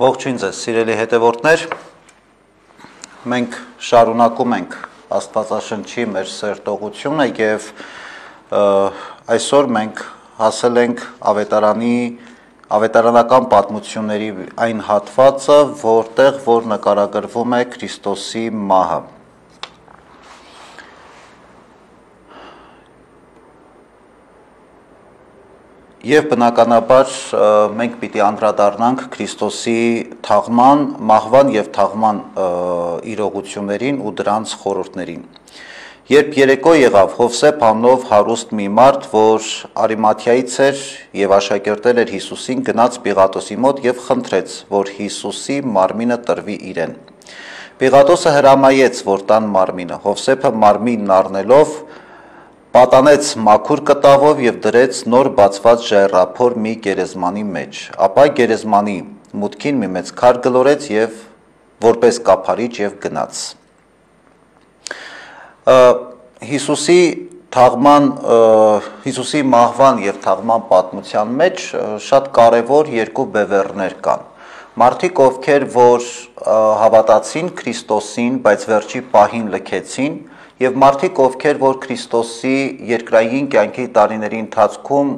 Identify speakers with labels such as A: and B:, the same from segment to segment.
A: Ողջույն ձեզ, սիրելի հետևորդներ, մենք շարունակում ենք Աստվածաշնչի մեր սերտողությունը և այսօր մենք հասել ենք ավետարանական պատմությունների այն հատվածը, որտեղ որ նկարագրվում է Քրիստոսի մահը։ Եվ բնականաբար մենք պիտի անդրադառնանք Քրիստոսի թաղման, մահվան և թաղման իրողություններին ու դրանց խորհուրդներին։ Երբ երեկո եղավ, Հովսեփ անունով հարուստ մի մարդ, որ Արիմաթիայից էր և աշակերտել էր Հիսուսին, գնաց Պիղատոսի մոտ և խնդրեց, որ Հիսուսի մարմինը տրվի իրեն։ Պիղատոսը հրամայեց, որ տան մարմինը։ Հովսեփը մարմինն առնելով պատանեց մաքուր կտավով և դրեց նոր բացված ժայռափոր մի գերեզմանի մեջ, ապա գերեզմանի մուտքին մի մեծ քար գլորեց և որպես կափարիչ և գնաց։ Հիսուսի մահվան և թաղման պատմության մեջ շատ կարևոր երկու բևեռներ կան։ Մարդիկ, ովքեր որ հավատացին Քրիստոսին, բայց վերջի պահին լքեցին, և մարդիկ, ովքեր որ Քրիստոսի երկրային կյանքի տարիների ընթացքում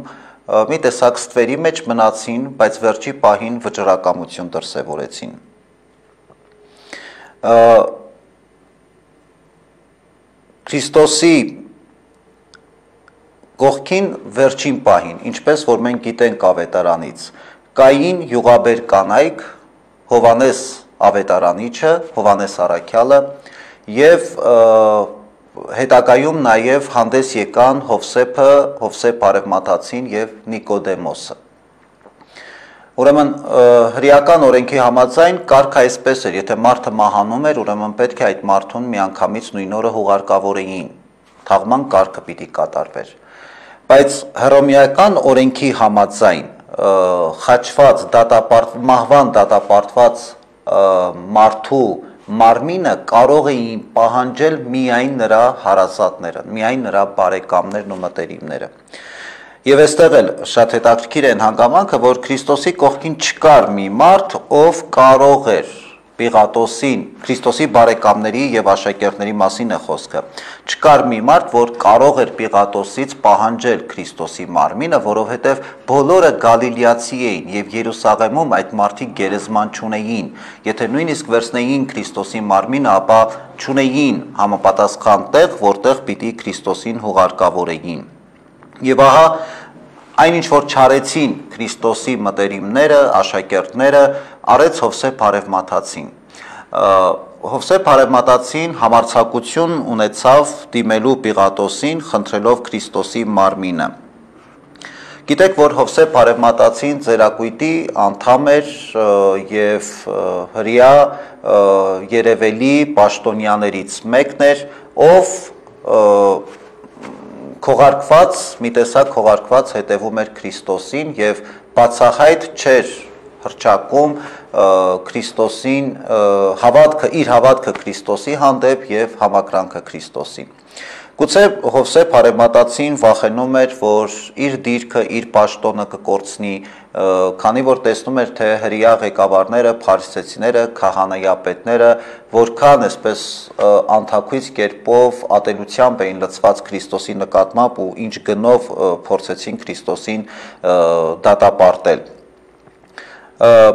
A: մի տեսակ ստվերի մեջ մնացին, բայց վերջի պահին վճռակամություն դրսևորեցին։ Քրիստոսի կողքին վերջին պահին, ինչպես որ մենք գիտենք ավետարանից, կային յուղաբեր կանայք, Հովհաննես ավետարանիչը, Հովհաննես առաքյալը և հետագայում նաև հանդես եկան Հովսեփը, Հովսեփ Արևմատացին և Նիկոդեմոսը։ Ուրեմն հրեական օրենքի համաձայն կարգը այսպես էր, եթե մարդը մահանում էր, ուրեմն պետք է այդ մարդուն միանգամից նույն օրը հուղարկավորեին, թաղման կարգը պիտի կատարվեր։ Բայց հռոմեական օրենքի համաձայն խաչված, մահվան դատապարտված մարդու մարմինը կարող էին պահանջել միայն նրա հարազատները, միայն նրա բարեկամներն ու մտերիմները։ Եվ այստեղ էլ շատ հետաքրքիր է այն հանգամանքը, որ Քրիստոսի կողքին չկար մի մարդ, ով կարող էր Պիղատոսին, Քրիստոսի բարեկամների և աշակերտների մասին է խոսքը, չկար մի մարդ, որ կարող էր Պիղատոսից պահանջել Քրիստոսի մարմինը, որովհետև բոլորը գալիլեացի էին և Երուսաղեմում այդ մարդիկ գերեզման չունեին, եթե նույնիսկ վերցնեին Քրիստոսի մարմինը, ապա չունեին համապատասխան տեղ, որտեղ պիտի Քրիստոսին հուղարկավորեին։ Եվ ահա այն ինչ որ չարեցին Քրիստոսի մտերիմները, աշակերտները, արեց Հովսեփ Արևմատացին։ Հովսեփ Արևմատացին համարձակություն ունեցավ դիմելու Պիղատոսին, խնդրելով Քրիստոսի մարմինը։ Գիտեք, որ Հովսեփ Արևմատացին Ծերակույտի անդամ էր և հրեա երևելի պաշտոնյաներից մեկն էր, ով քողարկված, մի տեսակ քողարկված հետևում էր Քրիստոսին և բացահայտ չէր հռչակում Քրիստոսին, իր հավատքը Քրիստոսի հանդեպ և համակրանքը Քրիստոսին։ Գուցե Հովսեփ Արևմատացին վախենում էր, որ իր դիրքը, իր պաշտոնը կկորցնի, քանի որ տեսնում էր, թե հրեա ղեկավարները, փարիսեցիները, քահանայապետները որքան այսպես անթաքույց կերպով ատելությամբ էին լցված Քրիստոսի նկատմամբ ու ինչ գնով փորձեցին Քրիստոսին դատապարտել։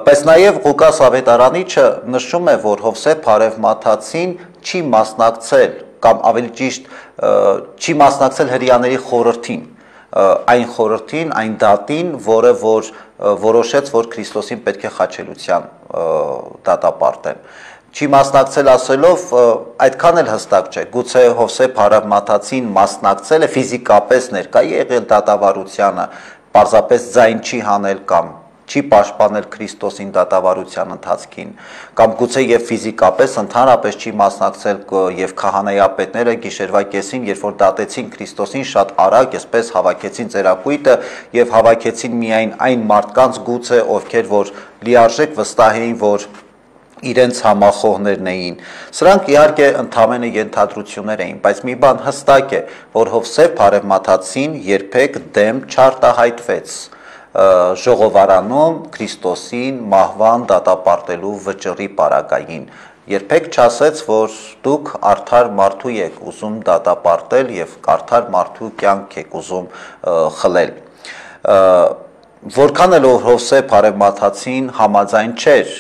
A: Բայց նաև Ղուկաս ավետարանիչը նշում է, որ Հովսեփ Արևմատացին չի մասնակցել, կամ ավելի ճիշտ չի մասնակցել հրեաների խորհրդին, այն խորհրդին, այն դատին, որը որ որոշեց, որ Քրիստոսին պետք է խաչելության դատապարտեն։ Չի մասնակցել ասելով այդքան էլ հստակ չէ, գուցե Հովսեփ Արևմատացին մասնակցել է, ֆիզիկապես ներկա եղել դատավարությանը, պարզապես ձայն չի հանել կամ չի պաշտպանել Քրիստոսին դատավարության ընթացքին, կամ գուցե և ֆիզիկապես ընդհանրապես չի մասնակցել և քահանայապետները գիշերվա կեսին, երբ որ դատեցին Քրիստոսին, շատ արագ այսպես հավաքեցին ծերակույտը և հավաքեցին միայն այն մարդկանց գուցե, ովքեր որ լիարժեք վստահ էին, որ իրենց համախոհներն էին։ Սրանք իհարկե ընդամենը ենթադրություններ էին, բայց մի բան հստակ է, որ Հովսեփ Արևմատացին երբեք դեմ չարտահայտվեց ժողովարանում Քրիստոսին մահվան դատապարտելու վճռի պարագային։ Երբեք չասեց, որ դուք արդար մարդու եք ուզում դատապարտել եւ արդար մարդու կյանք եք ուզում խլել։ Որքան էլ Հովսեփ Արևմատացին համաձայն չէր,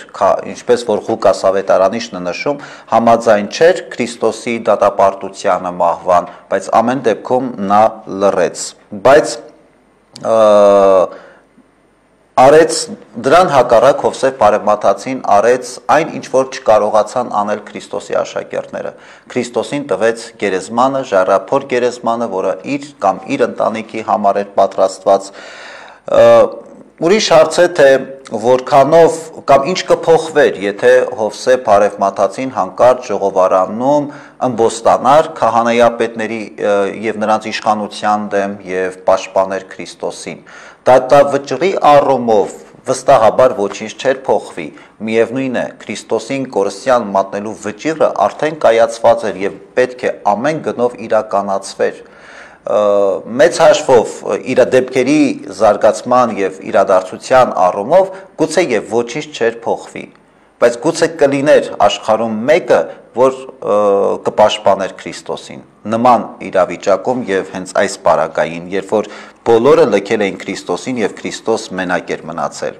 A: ինչպես որ Ղուկաս ավետարանիչն է նշում, համաձայն չէր Քրիստոսի դատապարտությանը մահվան, բայց ամեն դեպքում նա լռեց, բայց արեց դրան հակառակ Հովսեփ Արևմատացին արեց այն, ինչ որ չկարողացան անել Քրիստոսի աշակերտները։ Քրիստոսին տվեց գերեզմանը, ժառափոր գերեզմանը, որը իր ընտանիքի համար էր պատրաստված։ Ուրիշ հարց է, թե որքանով կամ ինչ կփոխվեր, եթե Հովսեփ Արևմատացին հանկարծ ժողովարանում ըմբոստանար քահանայապետների եւ նրանց իշխանության դեմ եւ պաշտպաներ Քրիստոսին։ Դատավճռի առումով վստահաբար ոչինչ չէր փոխվի։ Միևնույն է, Քրիստոսին կորստյան մատնելու վճիռը արդեն կայացված էր եւ պետք է ամեն գնով իրականացվեր։ Մեծ հաշվով իր դեպքերի զարգացման եւ իրադարձության առումով գուցե եւ ոչինչ չէր փոխվի, բայց գուցե կլիներ աշխարհում մեկը, որ կպաշտպաներ Քրիստոսին նման իրավիճակում եւ հենց այս պարագային, երբ որ բոլորը լքել էին Քրիստոսին եւ Քրիստոս մենակ էր մնացել։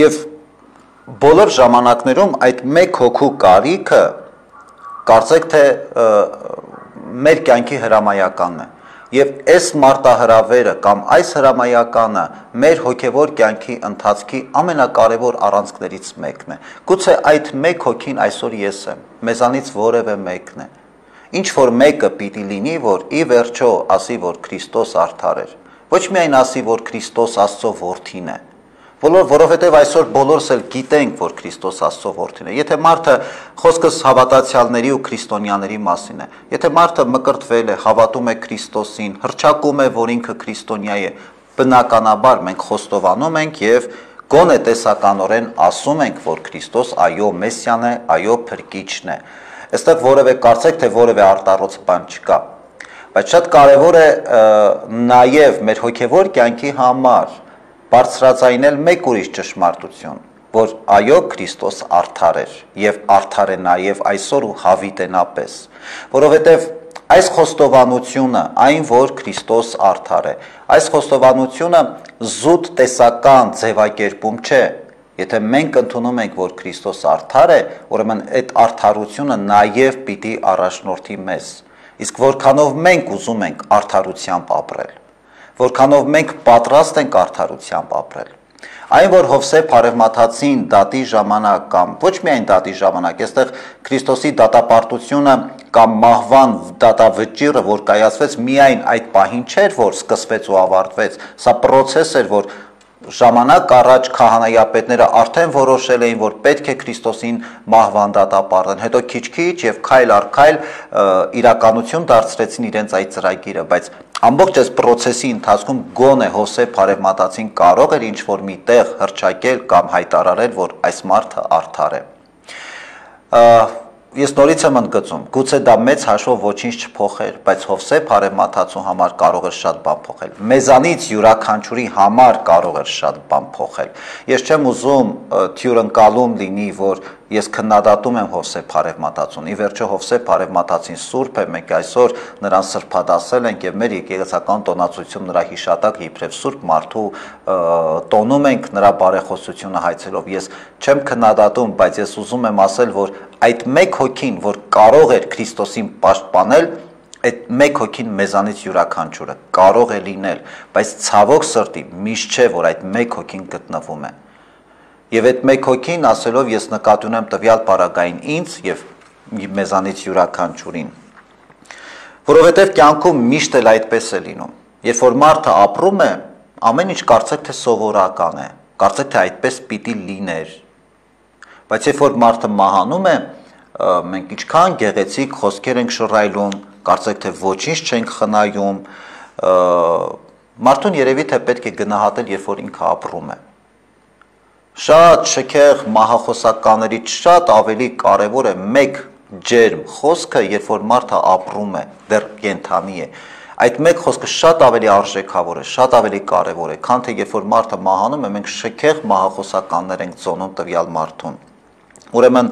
A: Եվ բոլոր ժամանակներում այդ մեկ հոգու կարիքը կարծեք թե մեր կյանքի հրամայականն է եւ այս մարտահրավերը կամ այս հրամայականը մեր հոգեվոր կյանքի ընթացքի ամենակարևոր առանցքներից մեկն է։ Գուցե այդ մեկ հոգին այսօր ես եմ, մեզանից որևէ մեկն է։ Ինչ որ մեկը պիտի լինի, որ ի վերջո ասի, որ Քրիստոս արդար էր։ Ոչ միայն ասի, որ Քրիստոս Աստծո որդին է, որովհետև այսօր բոլորս էլ գիտենք, որ Քրիստոս Աստծո որդին է։ Եթե մարդը խոսքս հավատացյալների ու քրիստոնյաների մասին է, եթե մարդը մկրտվել է, հավատում է Քրիստոսին, հռչակում է, որ ինքը քրիստոնյա է, բնականաբար մենք խոստովանում ենք եւ գոնե տեսականորեն ասում ենք, որ Քրիստոս այո Մեսիան է, այո փրկիչն է։ Այստեղ որևէ կարծեք թե որևէ արտառոց բան չկա։ Բայց շատ կարևոր է նաեւ մեր հոգեվոր կյանքի համար բարձրացնել մեկ ուրիշ ճշմարտություն, որ այո Քրիստոս արդար էր եւ արդար է նաեւ այսօր ու հավիտենապես, որովհետեւ այս խոստովանությունը, այն որ Քրիստոս արդար է, այս խոստովանությունը զուտ տեսական ձևակերպում չէ։ Եթե մենք ընդունում ենք, որ Քրիստոս արդար է, ուրեմն այդ արդարությունը նաեւ պիտի առաջնորդի մեզ։ Իսկ որքանով մենք ուզում ենք արդարությամբ ապրել, որքանով մենք պատրաստ ենք արդարությամբ ապրել։ Այն որ Հովսեփ Արևմատացին դատի ժամանակ կամ ոչ միայն դատի ժամանակ, այստեղ Քրիստոսի դատապարտությունը կամ մահվան դատավճիռը, որ կայացվեց միայն այդ պահին չէր, որ սկսվեց ու ավարտվեց, սա process էր, որ ժամանակ առաջ քահանայապետները արդեն որոշել էին, որ պետք է Քրիստոսին մահվան դատապարտեն, հետո քիչ-քիչ եւ քայլ առ քայլ իրականություն դարձրեցին իրենց այդ ծրագիրը, բայց ամբողջ այս process-ի ընթացքում գոնե Հովսեփ Արևմատացին կարող էր ինչ-որ մի տեղ հռչակել կամ հայտարարել, որ այս մարդը արդար է։ Ես նորից եմ ընդգծում, գուցե դա մեծ հաշվով ոչինչ չփոխեր, բայց Հովսեփ Արևմատացու համար կարող էր շատ բան փոխել։ Մեզանից յուրաքանչյուրի համար կարող էր շատ բան փոխել։ Ես չեմ ուզում թյուրընկալում լինի, որ ես քննադատում եմ Հովսեփ Արևմատացուն։ Ի վերջո Հովսեփ Արևմատացին սուրբ է, մենք այսօր նրան սրբադասել ենք եւ մեր եկեղեցական տոնացություն նրա հիշատակ իբրև սուրբ մարդու տոնում ենք նրա բարեխոսությունը հայցելով։ Ես չեմ քննադատում, բայց ես ուզում եմ ասել, որ այդ մեկ հոգին, որ կարող էր Քրիստոսին պաշտպանել, այդ մեկ հոգին մեզանից յուրաքանչյուրը կարող է լինել, բայց ցավոք սրտի միշտ չէ, որ այդ մեկ հոգին գտնվում է։ Եվ այդ մեկ հոգին ասելով ես նկատի ունեմ տվյալ պարագային ինձ եւ մեզանից յուրաքանչյուրին։ Որովհետեւ կյանքում միշտ էլ այդպես է լինում։ Երբ որ մարդը ապրում է, ամեն ինչ կարծեք թե սովորական է, կարծեք թե այդպես պիտի լիներ։ Բայց երբ որ մարդը մահանում է, մենք ինչքան գեղեցիկ խոսքեր ենք շռայլում, կարծեք թե ոչինչ չենք խնայում, մարդուն երևի թե պետք է գնահատել, երբ որ ինքը ապրում է։ Շատ շքեղ մահախոսականներից շատ ավելի կարևոր է մեկ ջերմ խոսքը, երբ որ մարդը ապրում է, դեռ կենդանի է։ այդ մեկ խոսքը շատ ավելի արժեքավոր է, շատ ավելի կարևոր է, քան թե երբ որ մարդը մահանում է, մենք շքեղ մահախոսականներ ենք ծոնում տվյալ մարդուն։ Ուրեմն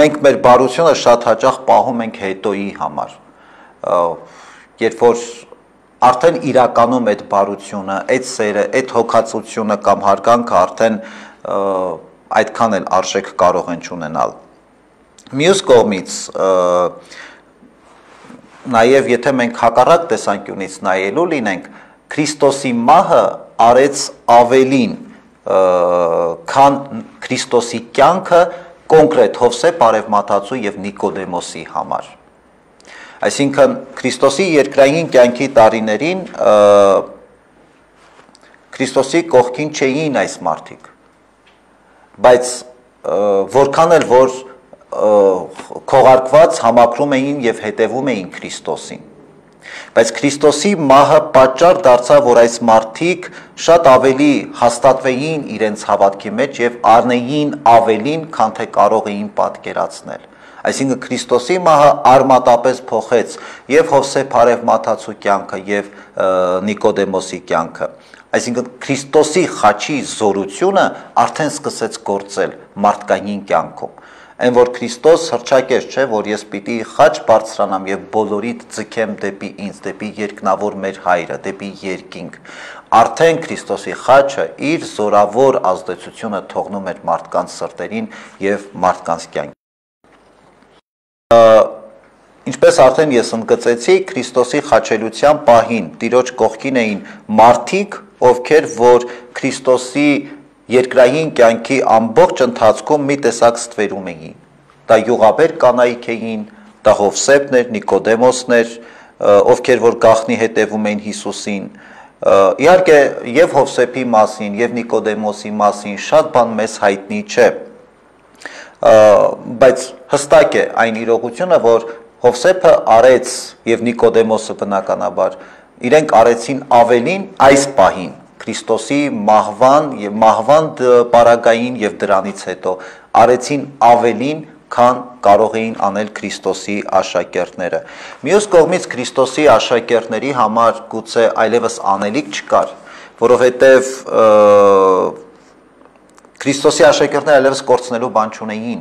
A: մենք մեր բարությունը շատ հաճախ պահում ենք հետոյի համար, երբ որ արդեն իրականում այդ բարությունը, այդ սերը, այդ հոգացությունը կամ հարգանքը արդեն այդքան էլ արժեք կարող են չունենալ։ Մյուս կողմից նաև եթե մենք հակառակ տեսանկյունից նայելու լինենք, Քրիստոսի մահը արեց ավելին, քան Քրիստոսի կյանքը կոնկրետ Հովսեփ Արևմատացու եւ Նիկոդեմոսի համար։ Այսինքն Քրիստոսի երկրային կյանքի տարիներին Քրիստոսի կողքին չէին այս մարդիկ, բայց որքան էլ որ քողարկված համակրում էին եւ հետևում էին Քրիստոսին, բայց Քրիստոսի մահը պատճառ դարձավ, որ այս մարդիկ շատ ավելի հաստատվեին իրենց հավատքի մեջ եւ առնեին ավելին, քան թե կարող էին պատկերացնել։ Այսինքն Քրիստոսի մահը արմատապես փոխեց եւ Հովսեփ Արևմատացու կյանքը եւ Նիկոդեմոսի կյանքը։ Այսինքն Քրիստոսի խաչի զորությունը արդեն սկսեց գործել մարդկային կյանքում։ Այն որ Քրիստոս հռչակեց, չէ, որ ես պիտի խաչ բարձրանամ եւ բոլորիդ ձգեմ դեպի ինձ, դեպի երկնավոր մեր հայրը, դեպի երկինք։ Արդեն Քրիստոսի խաչը իր զորավոր ազդեցությունը թողնում էր մարդկանց սրտերին եւ մարդկանց կյանքին։ Ինչպես արդեն ես ընդգծեցի, Քրիստոսի խաչելության պահին Տիրոջ կողքին էին մարդիկ, ովքեր որ Քրիստոսի երկրային կյանքի ամբողջ ընթացքում մի տեսակ ստվերում էին։ Դա յուղաբեր կանայք էին, դա Հովսեփներ, Նիկոդեմոսներ, ովքեր որ գաղտնի հետևում էին Հիսուսին։ Իհարկե եւ Հովսեփի մասին, եւ Նիկոդեմոսի մասին շատ բան մեզ հայտնի չէ։ Բայց հստակ է այն իրողությունը, որ Հովսեփը արեց եւ Նիկոդեմոսը բնականաբար իրենք արեցին ավելին այս պահին Քրիստոսի մահվան պարագային եւ դրանից հետո արեցին ավելին, քան կարող էին անել Քրիստոսի աշակերտները։ Մյուս կողմից Քրիստոսի աշակերտների համար գուցե այլևս անելիք չկար, որովհետեւ Քրիստոսի աշակերտները այլևս կորցնելու բան չունեին։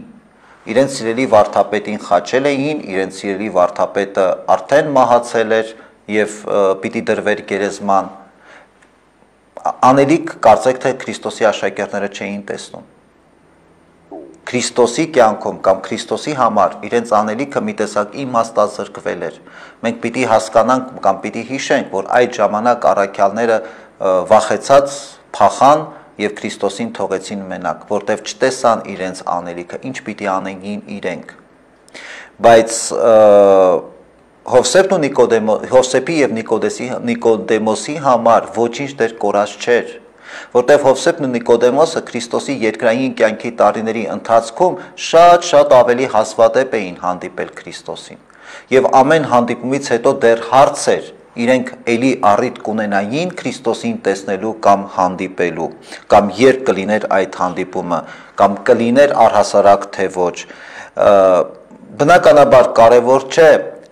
A: Իրենց սիրելի վարդապետին խաչել էին, իրենց սիրելի վարդապետը արդեն մահացել էր եւ պիտի դրվեր գերեզման։ Անելիք կարծեք թե Քրիստոսի աշակերտները չէին տեսնում։ Քրիստոսի կյանքում կամ Քրիստոսի համար իրենց անելիքը մի տեսակ իմաստազրկվել էր։ Մենք պիտի հասկանանք կամ պիտի հիշենք, որ այդ ժամանակ առաքյալները վախեցած փախան եւ Քրիստոսին թողեցին մենակ, որտեվ չտեսան իրենց անելիքը, ինչ պիտի անեին իրենք։ Բայց Հովսեփի եւ Նիկոդեմոսի համար ոչինչ դեռ կորած չէր, որտեվ Հովսեփն ու Նիկոդեմոսը Քրիստոսի երկրային կյանքի տարիների ընթացքում շատ ավելի հազվադեպ էին հանդիպել Քրիստոսին։ Եվ ամեն հանդիպումից հետո դեռ հարց էր իրենք էլի առիթ կունենային Քրիստոսին տեսնելու կամ հանդիպելու, կամ երբ կլիներ այդ հանդիպումը, կամ կլիներ առհասարակ թե ոչ։ Բնականաբար կարևոր չէ,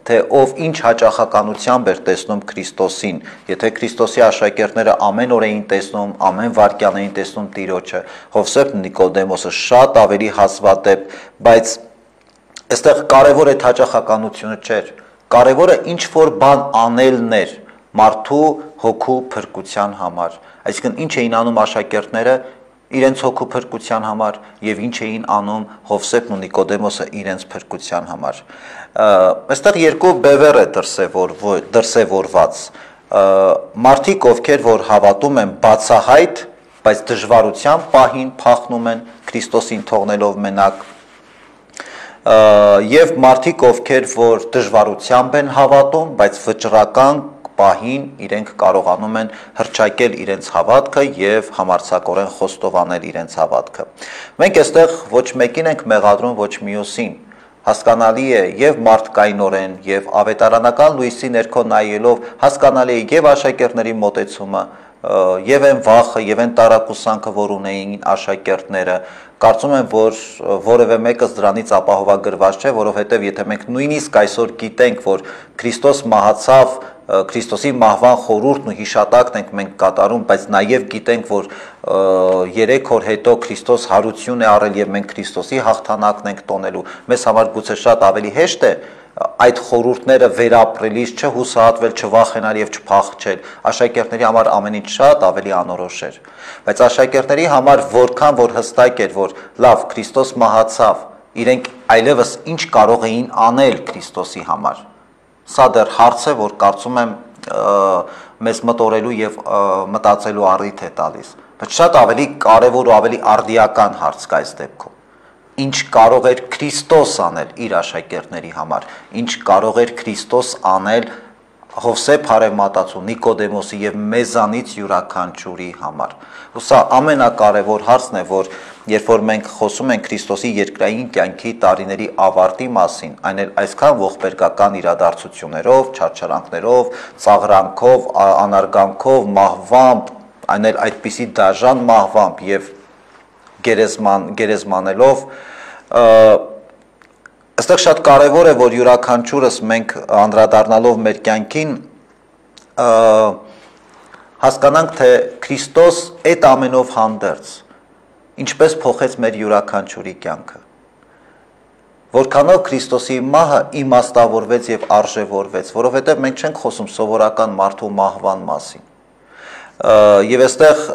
A: թե ով ինչ հաճախականությամբ էր տեսնում Քրիստոսին, եթե Քրիստոսի աշակերտները ամեն օր էին տեսնում, ամեն վայրկյան էին տեսնում Տիրոջը, Հովսեփն ու Նիկոդեմոսը շատ ավելի հազվադեպ, բայց այստեղ կարևոր այդ հաճախականությունը չէր։ Կարևորը ինչ որ բան անելն էր մարդու հոգու փրկության համար։ Այսինքն ինչ էին անում աշակերտները իրենց հոգու փրկության համար եւ ինչ էին անում Հովսեփն ու Նիկոդեմոսը իրենց փրկության համար։ Այստեղ երկու բևեռ է դրսևորված։ Մարդիկ, ովքեր որ հավատում են բացահայտ, բայց դժվարության պահին փախնում են Քրիստոսին թողնելով մենակ, եւ մարդիկ, ովքեր որ դժվարությամբ են հավատում, բայց վճռական պահին իրենք կարողանում են հռչակել իրենց հավատքը եւ համարձակորեն խոստովանել իրենց հավատքը։ Մենք այստեղ ոչ մեկին ենք մեղադրում, ոչ մյուսին։ Հասկանալի է եւ մարդկայնորեն եւ ավետարանական լույսի ներքո նայելով հասկանալի է եւ աշակերտների մոտեցումը եւ այն վախը, եւ այն տարակուսանքը, որ ունեին աշակերտները, կարծում եմ, որ որևէ մեկը դրանից ապահովագրված չէ, որովհետեւ եթե մենք նույնիսկ այսօր գիտենք, որ Քրիստոս մահացավ, Քրիստոսի մահվան խորհուրդն ու հիշատակն ենք մենք կատարում, բայց նաև գիտենք, որ 3 օր հետո Քրիստոս հարություն է առել եւ մենք Քրիստոսի հաղթանակն ենք տոնելու, մեզ համար գուցե շատ ավելի հեշտ է այդ խորհուրդները վերապրելիս չհուսահատվել, չվախենալ եւ չփախչել, աշակերտների համար ամեն ինչ շատ ավելի անորոշ էր, բայց աշակերտների համար որքան որ հստակ էր, որ լավ Քրիստոս մահացավ, իրենք այլևս ինչ կարող էին անել Քրիստոսի համար, սա դեռ հարց է, որ կարծում եմ մեզ մտորելու եւ մտածելու առիթ է տալիս, բայց շատ ավելի կարեւոր ու ավելի արդիական հարց կա այս դեպքում, ինչ կարող էր Քրիստոս անել իր աշակերտների համար, ինչ կարող էր Քրիստոս անել Հովսեփ Հարևմատացու, Նիկոդեմոսի եւ մեզանից յուրաքանչյուրի համար։ Ու սա ամենակարևոր հարցն է, որ երբ որ մենք խոսում ենք Քրիստոսի երկրային կյանքի տարիների ավարտի մասին, այն էլ այսքան ողբերգական իրադարձություններով, չարչարանքներով, ծաղրանքով, անարգանքով, մահվամբ, այն էլ այդպիսի դաժան մահվամբ եւ գերեզմանելով, այստեղ շատ կարևոր է, որ յուրաքանչյուրս մենք անդրադառնալով մեր կյանքին հասկանանք, թե Քրիստոս այդ ամենով հանդերձ ինչպես փոխեց մեր յուրաքանչյուրի կյանքը, որքանով Քրիստոսի մահը իմաստավորվեց եւ արժեվորվեց, որովհետեւ մենք չենք խոսում սովորական մարդու մահվան մասին, եւ այստեղ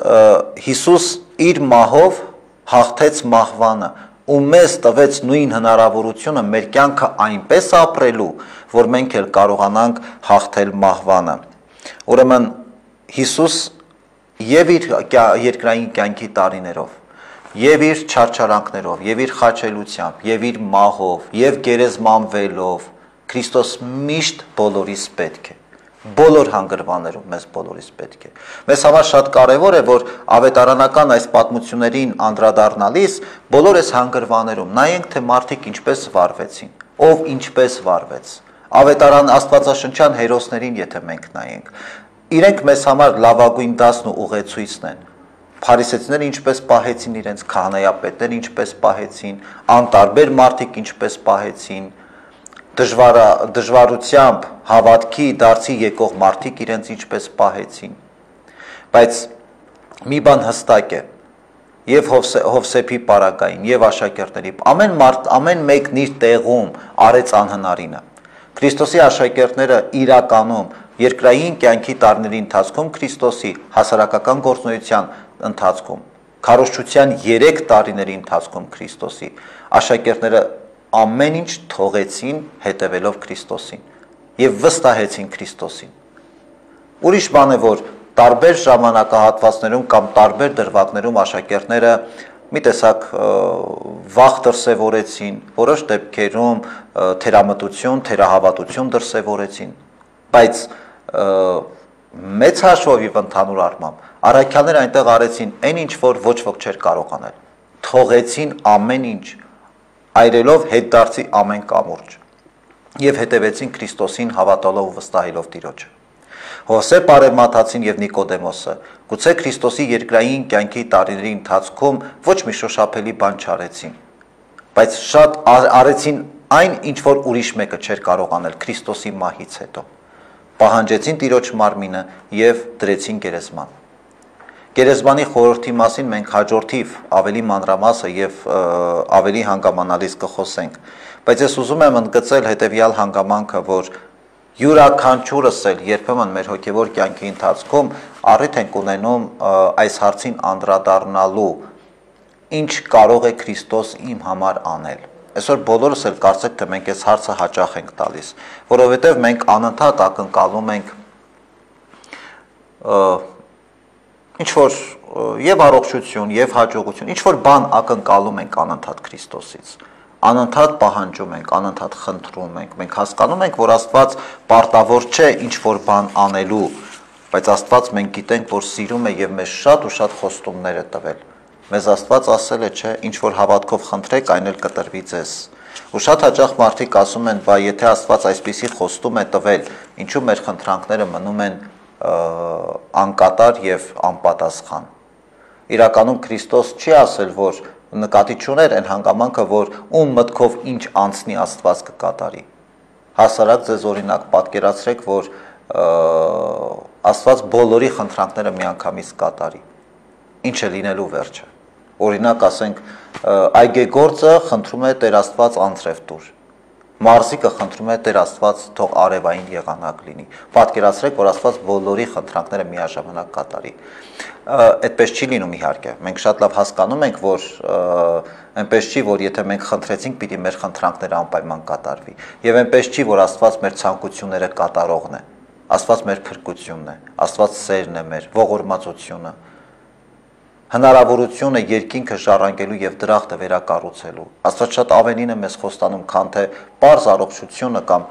A: Հիսուս իր մահով հաղթեց մահվանը ու մեզ տվեց նույն հնարավորությունը մեր կյանքը այնպես ապրելու, որ մենք էլ կարողանանք հաղթել մահվանը։ Ուրեմն Հիսուս եւ իր երկրային կյանքի տարիներով, եւ իր չարչարանքներով, եւ իր խաչելությամբ, եւ իր մահով, եւ գերեզմանվելով Քրիստոս միշտ բոլորիս պետք է։ Բոլոր հանգրվաններում մեզ բոլորիս պետք է։ Մեզ համար շատ կարևոր է, որ ավետարանական այս պատմություններին անդրադառնալիս բոլոր այս հանգրվաններում նայենք, թե մարդիկ ինչպես վարվեցին, ով ինչպես վարվեց։ Ավետարան աստվածաշնչյան հերոսներին եթե մենք նայենք, իրենք մեզ համար լավագույն դասն ու ուղեցույցն են։ Փարիսեցիները ինչպես պահեցին իրենց, քահանայապետները ինչպես պահեցին, անտարբեր մարդիկ ինչպես պահեցին, դժվարությամբ հավատքի դարձի եկող մարդիկ իրենց ինչպես պահեցին, բայց մի բան հստակ է, եւ Հովսեփի պարագային, եւ աշակերտների, ամեն մեկն իր տեղում արեց անհնարինը։ Քրիստոսի աշակերտները իրականում երկրային կյանքի տարիների ընթացքում Քրիստոսի հասարակական գործունեության ընթացքում, քարոզչության 3 տարիների ընթացքում Քրիստոսի աշակերտները ամեն ինչ թողեցին հետևելով Քրիստոսին եւ վստահեցին Քրիստոսին։ Ուրիշ բան է, որ տարբեր ժամանակահատվածներում կամ տարբեր դրվագներում աշակերտները մի տեսակ վախ դրսևորեցին, որոշ դեպքերում թերամտություն, թերահավատություն դրսևորեցին, բայց մեծ հաշվով եւ ընդհանուր առմամբ առաքյալները այնտեղ արեցին այն ինչ որ ոչ ոք չէր կարող անել, թողեցին ամեն ինչ, այրելով հետդարձի ամեն կամուրջ եւ հետևեցին Քրիստոսին հավատալով ու վստահելով Տիրոջը։ Հովսեփ Արևմատացին եւ Նիկոդեմոսը գուցե Քրիստոսի երկրային կյանքի տարիների ընթացքում ոչ մի շոշափելի բան չարեցին, բայց շատ արեցին այն, ինչ որ ուրիշ մեկը չէր կարող անել Քրիստոսի մահից հետո։ Պահանջեցին Տիրոջ մարմինը եւ դրեցին գերեզման։ Գերեզմանի խորհրդի մասին մենք հաջորդիվ ավելի մանրամասը եւ ավելի հանգամանալից կխոսենք, բայց ես ուզում եմ ընդգծել հետեւյալ հանգամանքը, որ յուրաքանչյուրս էլ երբեմն մեր հոգեվոր կյանքի ընթացքում առիթ ենք ունենում այս հարցին անդրադառնալու, ինչ կարող է Քրիստոս իմ համար անել։ Այսօր բոլորս էլ կարծեք թե մենք այս հարցը հաճախ ենք տալիս, որովհետև մենք անընդհատ ակնկալում ենք ինչ որ եւ առողջություն, եւ հաջողություն, ինչ որ բան ակնկալում ենք անընդհատ Քրիստոսից, անընդհատ պահանջում ենք, անընդհատ խնդրում ենք, մենք հասկանում ենք, որ Աստված պարտավոր չէ ինչ որ բան անելու, բայց Աստված մենք գիտենք, որ սիրում է եւ մեզ շատ ու շատ խոստումներ է տվել։ Մեզ Աստված ասել է, չէ, ինչ որ հավատքով խնդրեք, այն էլ կտրվի ձեզ։ Ու շատ հաճախ մարդիկ ասում են, բա եթե Աստված այսպիսի խոստում է տվել, ինչու մեր խնդրանքները մնում են անկատար եւ անպատասխան։ Իրականում Քրիստոս չի ասել, որ նկատի չուներ այն հանգամանքը, որ ում մտքով ինչ անցնի Աստված կկատարի։ Հասարակ ձեզ օրինակ պատկերացրեք, որ Աստված բոլորի խնդրանքները միանգամից կատարի։ Ինչ է լինելու վերջը։ Օրինակ ասենք, այգեգործը խնդրում է Տեր Աստված անձրև տուր։ Մարզիկը խնդրում է Տեր Աստված թող արևային եղանակ լինի։ Պատկերացրեք, որ Աստված բոլորի խնդրանքները միաժամանակ կատարի։ Այդպես չի լինում իհարկե։ Մենք շատ լավ հասկանում ենք, որ այնպես չի, որ եթե մենք խնդրեցինք, պիտի մեր խնդրանքները անպայման կատարվի։ Եվ այնպես չի, որ Աստված մեր ցանկությունները կատարողն է։ Աստված մեր փրկությունն է, Աստված սերն է մեր, ողորմածությունը, հնարավորությունը երկինքը ժառանգելու եւ դրախտը վերակառուցելու։ Աստված շատ ավելին է մեզ խոստանում, քան թե պարզ առողջությունը կամ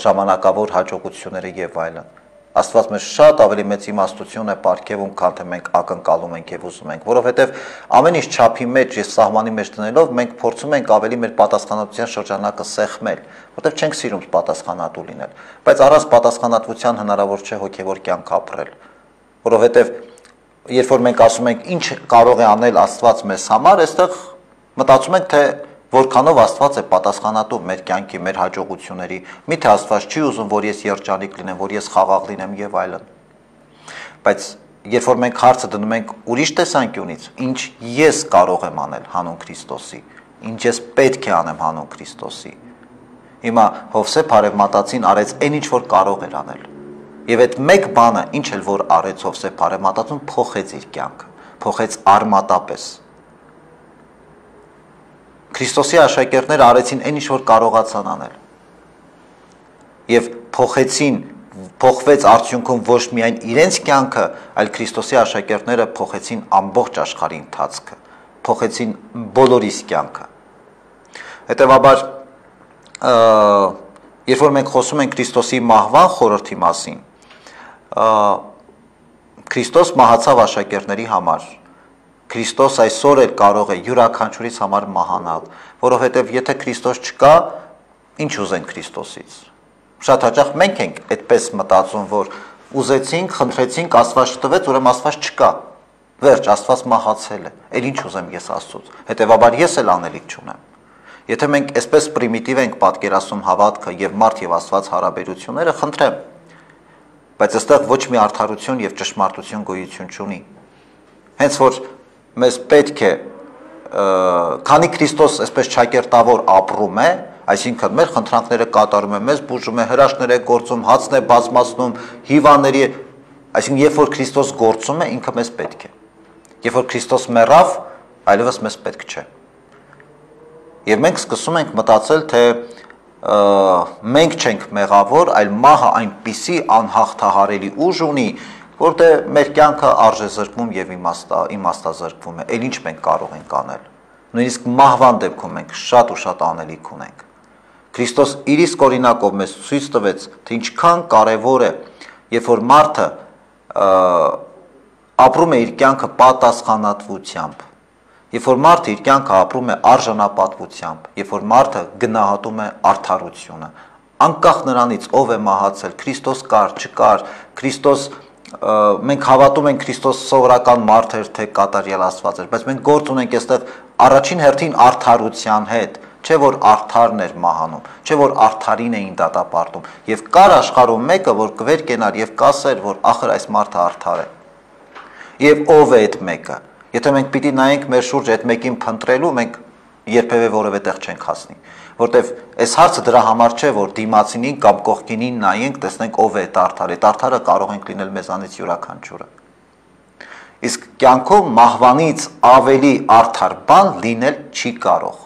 A: ժամանակավոր հաջողությունները եւ այլն։ Աստված մեզ շատ ավելի մեծ իմաստություն է պարգևում, քան թե մենք ակնկալում ենք եւ ուզում ենք, որովհետեւ ամեն ինչ չափի մեջ եւ սահմանի մեջ դնելով մենք փորձում ենք ավելի մեր պատասխանատվության շրջանակը սեղմել, որովհետեւ չենք սիրում պատասխանատու լինել, բայց առանց պատասխանատվության հնարավոր չէ հոգեվոր կյանք ապրել, որովհետեւ երբ որ մենք ասում ենք ինչ կարող է անել Աստված մեզ համար, այստեղ մտածում ենք, թե որքանով Աստված է պատասխանատու մեր կյանքի, մեր հաջողությունների, միթե Աստված չի ուզում, որ ես երջանիկ լինեմ, որ ես խաղաղ լինեմ եւ այլն։ Բայց երբ որ մենք հարցը դնում ենք ուրիշ տեսանկյունից, ինչ ես կարող եմ անել հանուն Քրիստոսի, ինչ ես պետք է անեմ հանուն Քրիստոսի, հիմա Հովսեփ Արևմատածին արեց այն ինչ որ կարող էր անել։ Եվ այդ մեկ բանը, ինչ էլ որ արեց Հովսեփ Արևմատածուն, փոխեց իր կյանքը, փոխեց արմատապես։ Քրիստոսի աշակերտները արեցին այն ինչ որ կարողացան անել։ Եվ փոխվեց արդյունքում ոչ միայն իրենց կյանքը, այլ Քրիստոսի աշակերտները փոխեցին ամբողջ աշխարհի ընթացքը, փոխեցին բոլորիս կյանքը։ Հետևաբար, երբ որ մենք խոսում ենք Քրիստոսի մահվան խորհրդի մասին, Քրիստոս մահացավ աշակերտների համար։ Քրիստոս այսօր էլ կարող է յուրաքանչյուրից համար մահանալ, որովհետև եթե Քրիստոս չկա, ինչ ուզենք Քրիստոսից։ Շատ հաճախ մենք ենք այդպես մտածում, որ ուզեցինք, խնդրեցինք, Աստված չտվեց, ուրեմն Աստված չկա։ Վերջ, Աստված մահացել է։ Էլ ինչ ուզեմ ես Աստծուց։ Հետևաբար ես էլ անելիք չունեմ։ Եթե մենք այսպես պրիմիտիվ ենք պատկերացնում հավատքը եւ մարդ եւ Աստված հարաբերությունները, խնդրեմ, բայց այստեղ ոչ մի արդարություն եւ ճշմարտություն գոյություն չունի։ Հենց որ մեզ պետք է, քանի Քրիստոս այսպես ճակերտավոր ապրում է, այսինքն մեր խնդրանքները կատարում է, մեզ բուժում է, հրաշքներ է գործում, հացն է բազմացնում, հիվանդների, այսինքն երբ որ Քրիստոս գործում է, ինքը մեզ պետք է։ Երբ որ Քրիստոս մեռավ, այլևս մեզ պետք չէ։ Եվ մենք սկսում ենք մտածել, թե մենք չենք մեղավոր, այլ մահը այնպիսի անհաղթահարելի ուժ ունի, որտեղ մեր կյանքը արժեզրկվում եւ իմաստազրկվում է, էլ ինչ մենք կարող ենք անել։ Նույնիսկ մահվան դեպքում մենք շատ ու շատ անելիք ունենք։ Քրիստոս իր իսկ օրինակով մեզ ցույց տվեց, թե ինչքան կարևոր է, երբ որ մարդը ապրում է իր կյանքը պատասխանատվությամբ, երբ որ մարդը իր կյանքը ապրում է արժանապատվությամբ, երբ որ մարդը գնահատում է արդարությունը, անկախ նրանից ով է մահացել, Քրիստոս կար, չկար, Քրիստոս մենք հավատում ենք Քրիստոս սովորական մարդ էր, թե կատարյալ Աստված էր, բայց մենք գործ ունենք այստեղ առաջին հերթին արդարության հետ, չէ որ արդարն էր մահանում, չէ որ արդարին էին դատապարտում, եւ կար աշխարհում մեկը, որ կվեր կենար եւ կասեր, որ ախր այս մարդը արդար է։ Եվ ով է այդ մեկը։ Եթե մենք պիտի նայենք մեր շուրջ այդ մեկին փնտրելու, մենք երբևէ որևէ տեղ չենք հասնի, որտեվ այս հարցը դրա համար չէ, որ դիմացինին կամ կողքինին նայենք, տեսնենք ով է այդ արդարը, այդ արդարը կարող ենք լինել մեզանից յուրաքանչյուրը։ Իսկ կյանքում մահվանից ավելի արդար բան լինել չի կարող,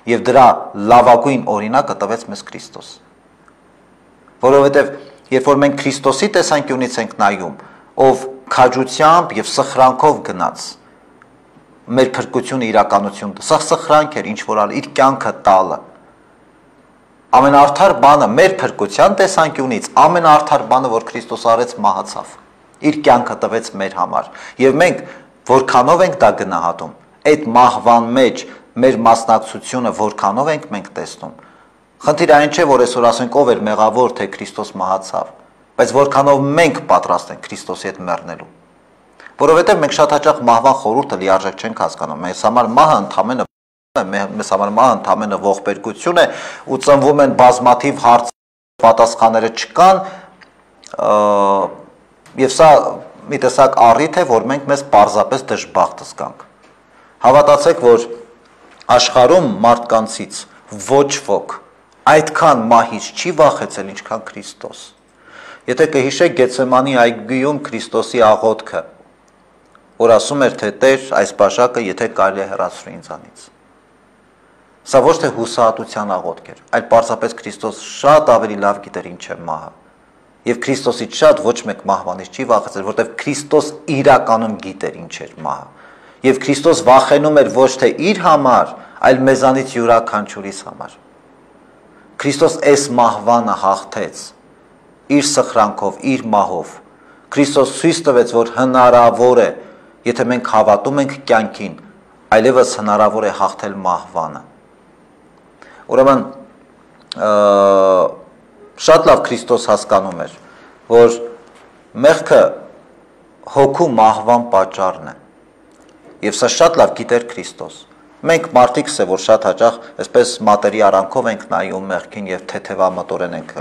A: եւ դրա լավագույն օրինակը տվեց մեզ Քրիստոս։ Որովհետեւ երբ որ մենք Քրիստոսի տեսանկյունից ենք նայում, ով քաջությամբ եւ սխրանքով գնաց մեր փրկությունը իրականություն, սա սխրանք էր, ինչ որ ալ իր կյանքը տալը։ Ամենաարդար բանը մեր փրկության տեսանկյունից, ամենաարդար բանը, որ Քրիստոս արեց, մահացավ։ Իր կյանքը տվեց մեր համար։ Եվ մենք որքանով ենք դա գնահատում, այդ մահվան մեջ մեր մասնակցությունը որքանով ենք մենք տեսնում։ Խնդիրը այն չէ, որ այսօր ասենք ով էր մեղավոր, թե Քրիստոս մահացավ։ բայց որքանով մենք պատրաստ ենք Քրիստոսի հետ մեռնելու։ Որովհետև մենք շատ հաճախ մահվան խորհուրդը լիարժեք չենք հասկանում։ Մեզ համար մահը ընդամենը ողբերգություն է ու ծնվում են բազմաթիվ հարց պատասխանները չկան, եւ սա մի տեսակ առիթ է, որ մենք մեզ պարզապես դժբախտ զգանք։ Հավատացեք, որ աշխարհում մարդկանցից ոչ ոք այդքան մահից չի վախեցել, ինչքան Քրիստոս։ Եթե կհիշեք Գեթսեմանի այգիում Քրիստոսի աղոթքը, որ ասում էր, թե Տեր, այս բաժակը եթե կարելի է հեռացրու ինձանից։ Սա ոչ թե հուսահատության աղոթք էր, այլ պարզապես Քրիստոս շատ ավելի լավ գիտեր ինչ է մահը։ Եվ Քրիստոսից շատ ոչ մեկ մահվանից չի վախեցել, որտեղ Քրիստոս իրականում գիտեր ինչ էր մահը։ Եվ Քրիստոս վախենում էր ոչ թե իր համար, այլ մեզանից յուրաքանչյուրիս համար։ Քրիստոս այս մահվանը հաղթեց իր սխրանքով, իր մահով։ Քրիստոս ցույց տվեց, որ հնարավոր է, եթե մենք հավատում ենք կյանքին, այլևս հնարավոր է հաղթել մահվանը։ Ուրեմն շատ լավ Քրիստոս հասկանում էր, որ մեղքը հոգու մահվան պատճառն է։ Եվ սա շատ լավ գիտեր Քրիստոս։ Մենք մարդիկս է, որ շատ հաճախ այսպես մատերի արանքով ենք նայում մեղքին եւ թեթևամտորեն ենք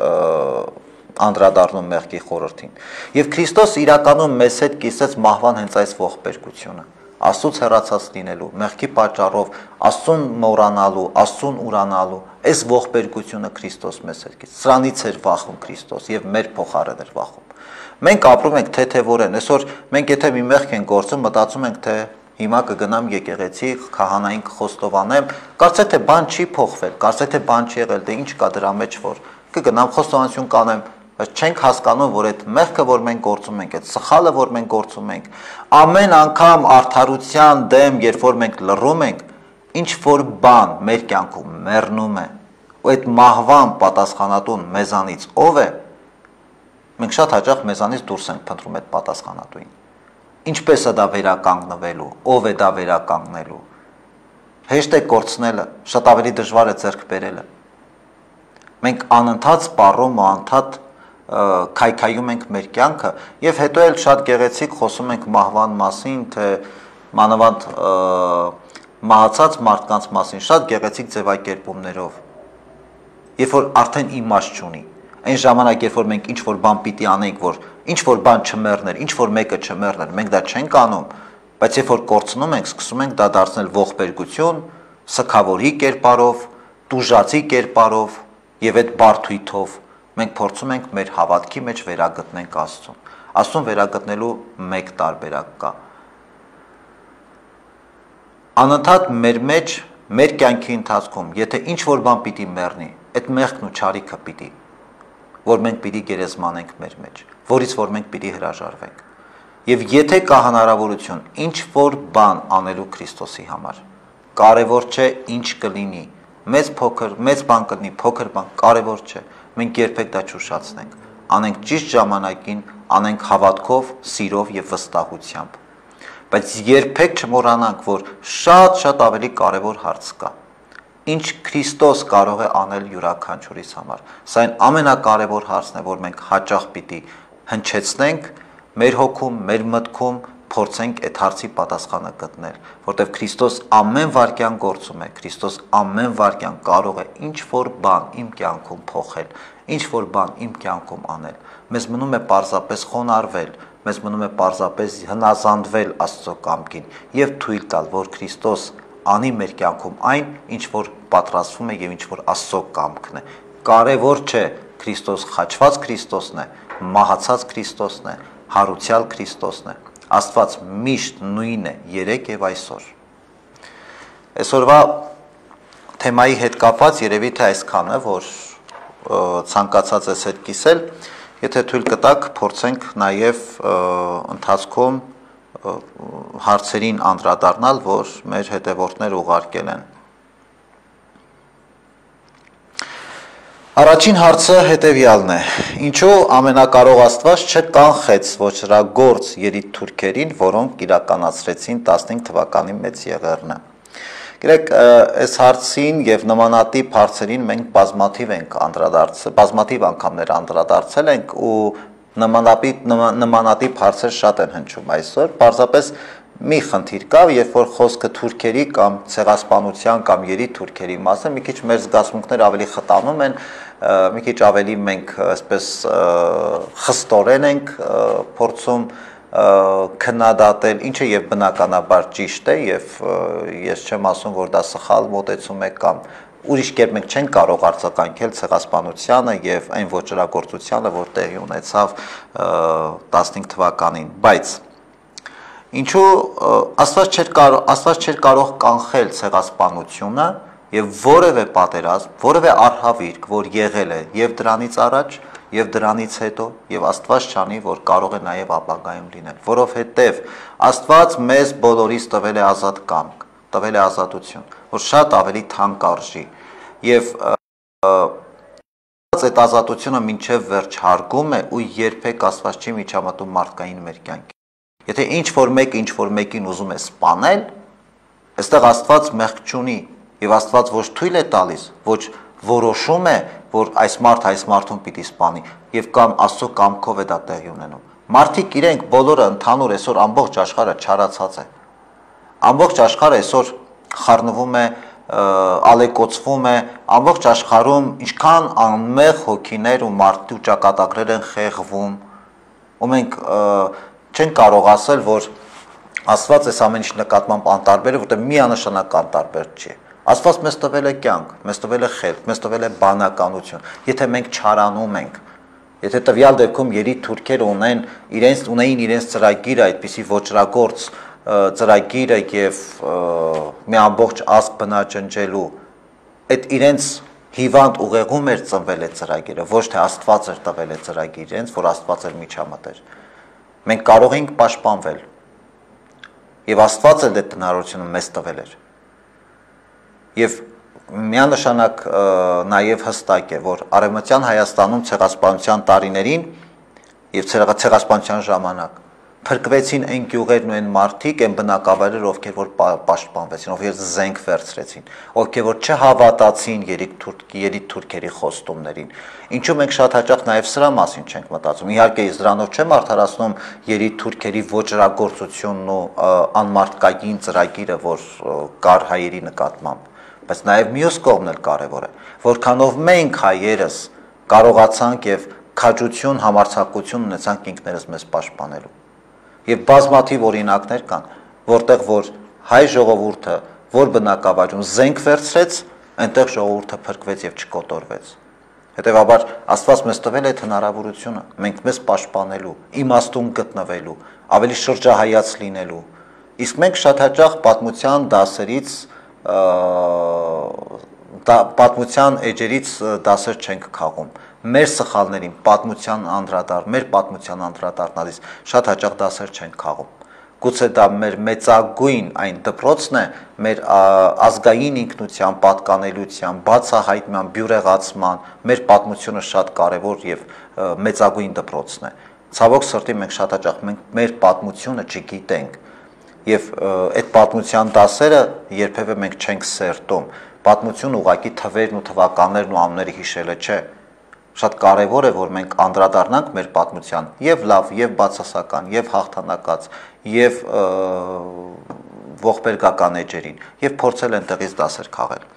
A: անդրադառնում մեղքի խորհրդին։ Եվ Քրիստոս իրականում մեզ հետ կիսեց մահվան հենց այս ողբերգությունը։ Աստծուց հեռացած լինելու, մեղքի պատճառով Աստծուն մոռանալու, Աստծուն ուրանալու, այս ողբերգությունը Քրիստոս մեզ հետ կիսեց։ Սրանից էր վախում Քրիստոս եւ մեր փոխարեն էր վախում։ Մենք ապրում ենք թեթևորեն, այսօր մենք եթե մի մեղք ենք գործում, մտածում ենք, թե հիմա կգնամ եկեղեցի, քահանային կխոստովանեմ, կարծեք թե բան չի փոխվել, կարծեք թե բան չի եղել, դե ինչ կա դրա մեջ, որ կգնամ խոստովանություն կանեմ, բայց չենք հասկանում, որ այդ մեղքը, որ մենք գործում ենք, այդ սխալը, որ մենք գործում ենք, ամեն անգամ արդարության դեմ, երբ որ մենք լռում ենք, ինչ որ բան մեր կյանքում մեռնում է, ու այդ մահվան պատասխանատուն մեզանից ով է, մենք շատ հաճախ մեզանից դուրս ենք փնտրում այդ պատասխանատուին։ Ինչպես է դա վերականգնվելու, ով է դա վերականգնելու։ Հեշտ է կորցնելը, շատ ավելի դժվար է ձեռք բերելը։ Մենք անընդհատ սպառում ու անընդհատ քայքայում ենք մեր կյանքը եւ հետո էլ շատ գեղեցիկ խոսում ենք մահվան մասին, թե մանավանդ մահացած մարդկանց մասին, շատ գեղեցիկ ձևակերպումներով։ Երբ որ արդեն իմաստ չունի, այն ժամանակ, երբ որ մենք ինչ-որ բան պիտի անենք, որ ինչ-որ բան չմեռներ, ինչ-որ մեկը չմեռներ, մենք դա չենք անում, բայց երբ որ կորցնում ենք, սկսում ենք դա դարձնել ողբերգություն, սգավորի կերպարով, տուժածի կերպարով եւ այդ բարթույթով մենք փորձում ենք մեր հավատքի մեջ վերագտնենք Աստծուն։ Աստծուն վերագտնելու մեկ տարբերակ կա։ Անընդհատ մեր մեջ, մեր կյանքի ընթացքում, եթե ինչ-որ բան պիտի մեռնի, այդ մեղքն ու չարիքը պիտի, որ մենք պիտի գերեզմանենք մեր մեջ, որից որ մենք պիտի հրաժարվենք։ Եվ եթե կա հնարավորություն ինչ-որ բան անելու Քրիստոսի համար, կարևոր չէ ինչ կլինի, մեծ բան կլինի, փոքր բան, կարևոր չէ, մենք երբեք դա չուշացնենք, անենք ճիշտ ժամանակին, անենք հավատքով, սիրով եւ վստահությամբ։ Բայց երբեք չմոռանանք, որ շատ ավելի կարևոր հարց կա։ Ինչ Քրիստոս կարող է անել յուրաքանչյուրիս համար։ Սա այն ամենակարևոր հարցն է, որ մենք հաճախ պիտի հնչեցնենք մեր հոգում, մեր մտքում, փորձենք այդ հարցի պատասխանը գտնել, որտեղ Քրիստոս ամեն վարքյան գործում է, Քրիստոս ամեն վարքյան կարող է ինչ-որ բան իմ կյանքում փոխել, ինչ-որ բան իմ կյանքում անել։ Մեզ մնում է պարզապես խոնարհվել, մեզ մնում է պարզապես հնազանդվել Աստծո կամքին եւ թույլ տալ, որ Քրիստոս անի մեր կյանքում այն, ինչ որ պատրաստվում է եւ ինչ որ Աստծո կամքն է։ Կարևոր չէ Քրիստոս խաչված Քրիստոսն է, մահացած Քրիստոսն է, հարուցյալ Քրիստոսն է։ Աստված միշտ նույնն է երեք եւ այսօր։ Այսօրվա թեմայի հետ կապված երևի թե այսքանը, որ ցանկացած ես հետ կիսել, եթե թույլ կտաք, փորձենք նաեւ ընթացքում հարցերին անդրադառնալ, որ մեր հետևորդները ուղարկել են։ Առաջին հարցը հետևյալն է. ինչու ամենակարող Աստված չկանխեց ոչրագործ երիտ թուրքերին, որոնք իրականացրեցին 15 թվականի մեծ եղեռնը։ Գիտեք, այս հարցին եւ նմանատիպ հարցերին մենք բազմաթիվ անգամներ անդրադարձել ենք ու նմանատիպ հարցեր շատ են հնչում այսօր, պարզապես մի խնդիր կա, երբ որ խոսքը թուրքերի կամ ցեղասպանության կամ երիտթուրքերի մասին, մի քիչ մեր զգացմունքները ավելի խտանում են, մի քիչ ավելի մենք այսպես խստորեն ենք փորձում քննադատել, ինչը եւ բնականաբար ճիշտ է եւ ես չեմ ասում, որ դա սխալ մոտեցում է կամ ուրիշ կերպ մենք չենք կարող արձագանքել ցեղասպանությանը եւ այն ոչռագործությանը, որ տեղի ունեցավ 15 թվականին, բայց ինչու Աստված չէր կարող կանխել ցեղասպանությունը եւ որևէ պատերազմ, որևէ արհավիրք, որ եղել է եւ դրանից առաջ եւ դրանից հետո եւ Աստված չանի, որ կարող է նաեւ ապագայում լինել, որովհետեւ Աստված մեզ բոլորիս տվել է ազատ կամք, տվել է ազատություն, որ շատ ավելի թանկ արժի եւ այդ ազատությունը մինչեւ վերջ հարգում է ու երբեք Աստված չի միջամտում մարդկային մեր կյանքի։ Եթե ինչ որ մեկին ուզում է սպանել, այստեղ Աստված մեղք չունի եւ Աստված ոչ թույլ է տալիս, ոչ որոշում է, որ այս մարդուն պիտի սպանի եւ կամ Աստծո կամքով է դա տեղի ունենում։ Մարդիկ իրենք բոլորը ընդհանուր այսօր ամբողջ աշխարհը չարացած է։ Ամբողջ աշխարհը այսօր խառնվում է, ալեկոծվում է, ամբողջ աշխարհում ինչքան անմեղ հոգիներ ու մարդու ճակատագրեր են խեղվում, ու մենք չենք կարող ասել, որ Աստված այս ամեն ինչի նկատմամբ անտարբեր է, որտեղ միանշանակ անտարբեր չի։ Աստված մեզ տվել է կյանք, մեզ տվել է խելք, մեզ տվել է բանականություն։ Եթե մենք չարանում ենք, եթե տվյալ դեպքում երիտթուրքերը ունեին իրենց ծրագիրը, այդպիսի ոչռագործ ծրագիրը եւ մի ամբողջ ազգ բնաջնջելու, այդ իրենց հիվանդ ուղեղում էր ծնվել այդ ծրագիրը, ոչ թե Աստված էր տվել այդ ծրագիրը իրենց, որ Աստված էր միջամտեր։ Մենք կարող ենք պաշտպանվել եւ Աստված էլ այդ հնարավորությունը մեզ տվել էր։ Եվ միանշանակ նաեւ հստակ է, որ Արևմտյան Հայաստանում ցեղասպանության տարիներին եւ ցեղասպանության ժամանակ փրկվեցին այն գյուղերն ու այն մարդիկ, այն բնակավայրերը, ովքեր որ պաշտպանվեցին, ովքեր զենք վերցրեցին, ովքեր որ չհավատացին երիտթուրքերի խոստումներին։ Ինչու մենք շատ հաճախ նաեւ սրա մասին չենք մտածում։ Իհարկե դրանով չեմ արդարացնում երիտթուրքերի ոչռագործությունն ու անմարդկային ծրագիրը, որ կար հայերի նկատմամբ, բայց նաեւ մյուս կողմն էլ կարեւոր է, որքանով մենք հայերս կարողացանք եւ քաջություն, համարձակություն ունեցանք ինքներս մեզ պաշտպանելու։ Եվ բազմաթիվ օրինակներ կան, որտեղ որ հայ ժողովուրդը, որ բնակավայրում զենք վերցրեց, այնտեղ ժողովուրդը փրկվեց եւ չկոտորվեց։ Հետևաբար Աստված մեզ տվել է այդ հնարավորությունը, մենք մեզ պաշտպանելու, իմաստուն գտնվելու, ավելի շրջահայաց լինելու։ Իսկ մենք շատ հաճախ պատմության դասերից, պատմության էջերից դասեր չենք քաղում։ Մեր սխալներին մեր պատմության անդրադառնալիս շատ հաճախ դասեր չենք քաղում։ Գուցե դա մեր մեծագույն այն դպրոցն է, մեր ազգային ինքնության, պատկանելիության, բացահայտման, բյուրեղացման, մեր պատմությունը շատ կարևոր եւ մեծագույն դպրոցն է։ Ցավոք սրտի մենք շատ հաճախ մեր պատմությունը չգիտենք եւ այդ պատմության դասերը երբևէ մենք չենք սերտում։ Պատմություն ուղղակի թվերն ու թվականներն ու անունները հիշելը չէ։ Շատ կարևոր է, որ մենք անդրադառնանք մեր պատմության եւ լավ, եւ բացասական, եւ հաղթանակած, եւ ողբերգական էջերին, եւ փորձել այնտեղից դասեր քաղել։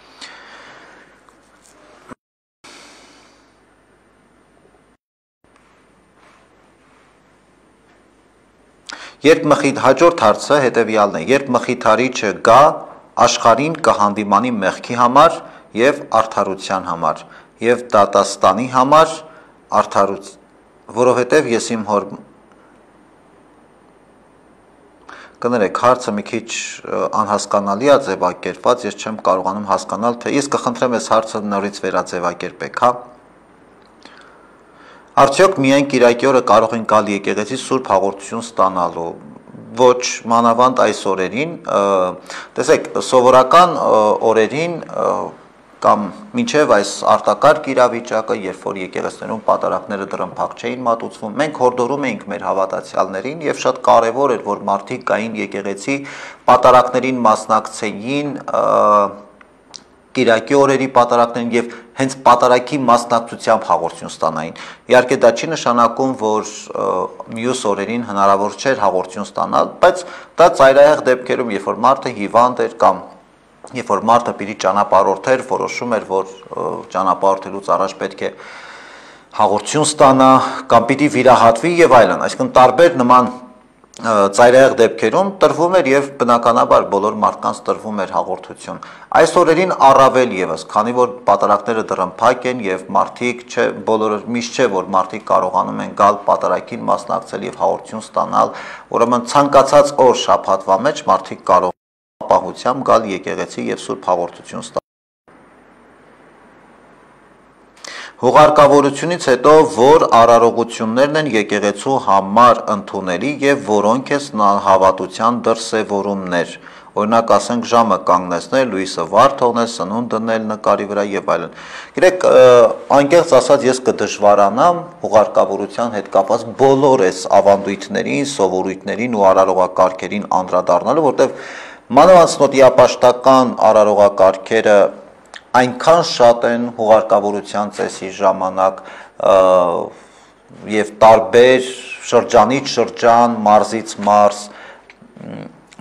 A: Հաջորդ հարցը հետեւյալն է. երբ մխիթարիչը գա, աշխարհին կհանդիմանի մեղքի համար եւ արդարության համար եւ դատաստանի համար որովհետեւ ես իմ հոր կներեք, հարցը մի քիչ անհասկանալի է ձևակերպված, ես չեմ կարողանում հասկանալ, թե ես կխնդրեմ այս հարցը նորից վերաձևակերպեք, հա։ Արդյոք միայն Կիրակի օրը կարող են գալ եկեղեցի սուրբ հաղորդություն ստանալու, ոչ մանավանդ այս օրերին, տեսեք, սովորական օրերին կամ մինչև այս արտակարգ իրավիճակը, երբ որ եկեղեցիներում պատարակները դռնփակ չէին մատուցվում, մենք հորդորում էինք մեր հավատացյալներին եւ շատ կարեւոր էր, որ մարդիկ գային եկեղեցի, պատարակներին մասնակցեին, կիրակի օրերի պատարակներին եւ հենց պատարակի մասնակցությամբ հաղորդություն ստանային։ Իհարկե դա չի նշանակում, որ մյուս օրերին հնարավոր չէր հաղորդություն ստանալ, բայց դա ծայրահեղ դեպքերում, երբ որ մարդը հիվանդ էր կամ երբ որ մարդը պիտի ճանապարհորդեր, որոշում էր, որ ճանապարհորդելուց առաջ պետք է հաղորդություն ստանա կամ պիտի վիրահատվի եւ այլն, այսինքն տարբեր նման ծայրահեղ դեպքերում տրվում էր եւ բնականաբար բոլոր մարդկանց տրվում էր հաղորդություն։ Այս օրերին առավել եւս, քանի որ պատարակները դռնփակ են եւ մարդիկ չէ, բոլորը միշտ չէ, որ մարդիկ կարողանում են գալ պատարակին մասնակցել եւ հաղորդություն ստանալ, ուրեմն ցանկացած օր շաբաթվա մեջ մարդիկ կարող են ապահությամբ գալ եկեղեցի եւ սուրբ հաղորդություն ստանալ։ Հուղարկավորությունից հետո որ արարողություններն են եկեղեցու համար ընդունելի եւ որոնք է հավատության դրսեւորումներ, օրինակ ասենք ժամը կանգնեցնել, լույսը վար թողնել, սնունդ դնել նկարի վրա եւ այլն։ Գիտեք, անկեղծ ասած ես կդժվարանամ հուղարկավորության հետ կապված բոլոր այս ավանդույթներին, սովորույթներին ու արարողակարգերին անդրադառնալու, որտեղ մանավանդ արարողակարգերը այնքան շատ են հուղարկավորության ծեսի ժամանակ եւ տարբեր շրջանից շրջան, մարզից մարզ,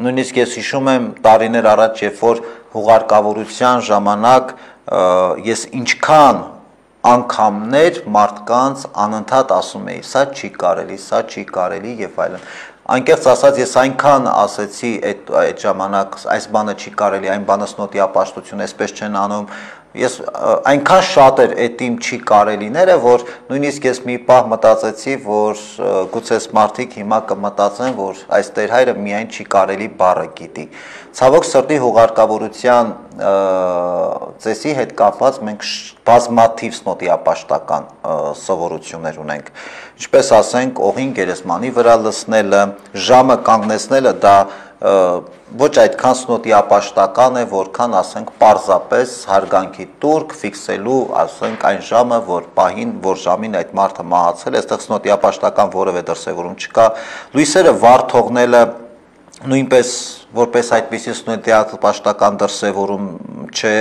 A: նույնիսկ ես հիշում եմ տարիներ առաջ, երբ որ հուղարկավորության ժամանակ ես ինչքան անգամներ մարդկանց անընդհատ ասում էի, սա չի կարելի եւ այլն։ Անկեղծ ասած ես այնքան ասեցի այդ ժամանակ այս բանը չի կարելի, այն բանը սնոտիապաշտություն, այսպես չեն անում, ես այնքան շատ էր այդ իմ չի կարելիները, որ նույնիսկ ես մի պահ մտածեցի, որ գուցե մարդիկ հիմա կմտածեն, որ այս տերհայրը միայն չի կարելի բառը գիտի։ Ցավոք սրտի հուղարկավորության ծեսի հետ կապված մենք բազմաթիվ սնոտիապաշտական սովորություններ ունենք։ Ինչպես ասենք, օղին գերեզմանի վրա լցնելը, ժամը կանգնեցնելը դա ոչ այդքան սնոտիապաշտական է, որքան ասենք պարզապես հարգանքի տուրք ֆիքսելու, ասենք այն ժամը, որ ժամին այդ մարդը մահացել է, այստեղ սնոտիապաշտական որևէ դրսևորում չկա։ Լույսերը վար թողնելը նույնպես որպես այդպիսի սնոտիապաշտական դրսևորում չէ,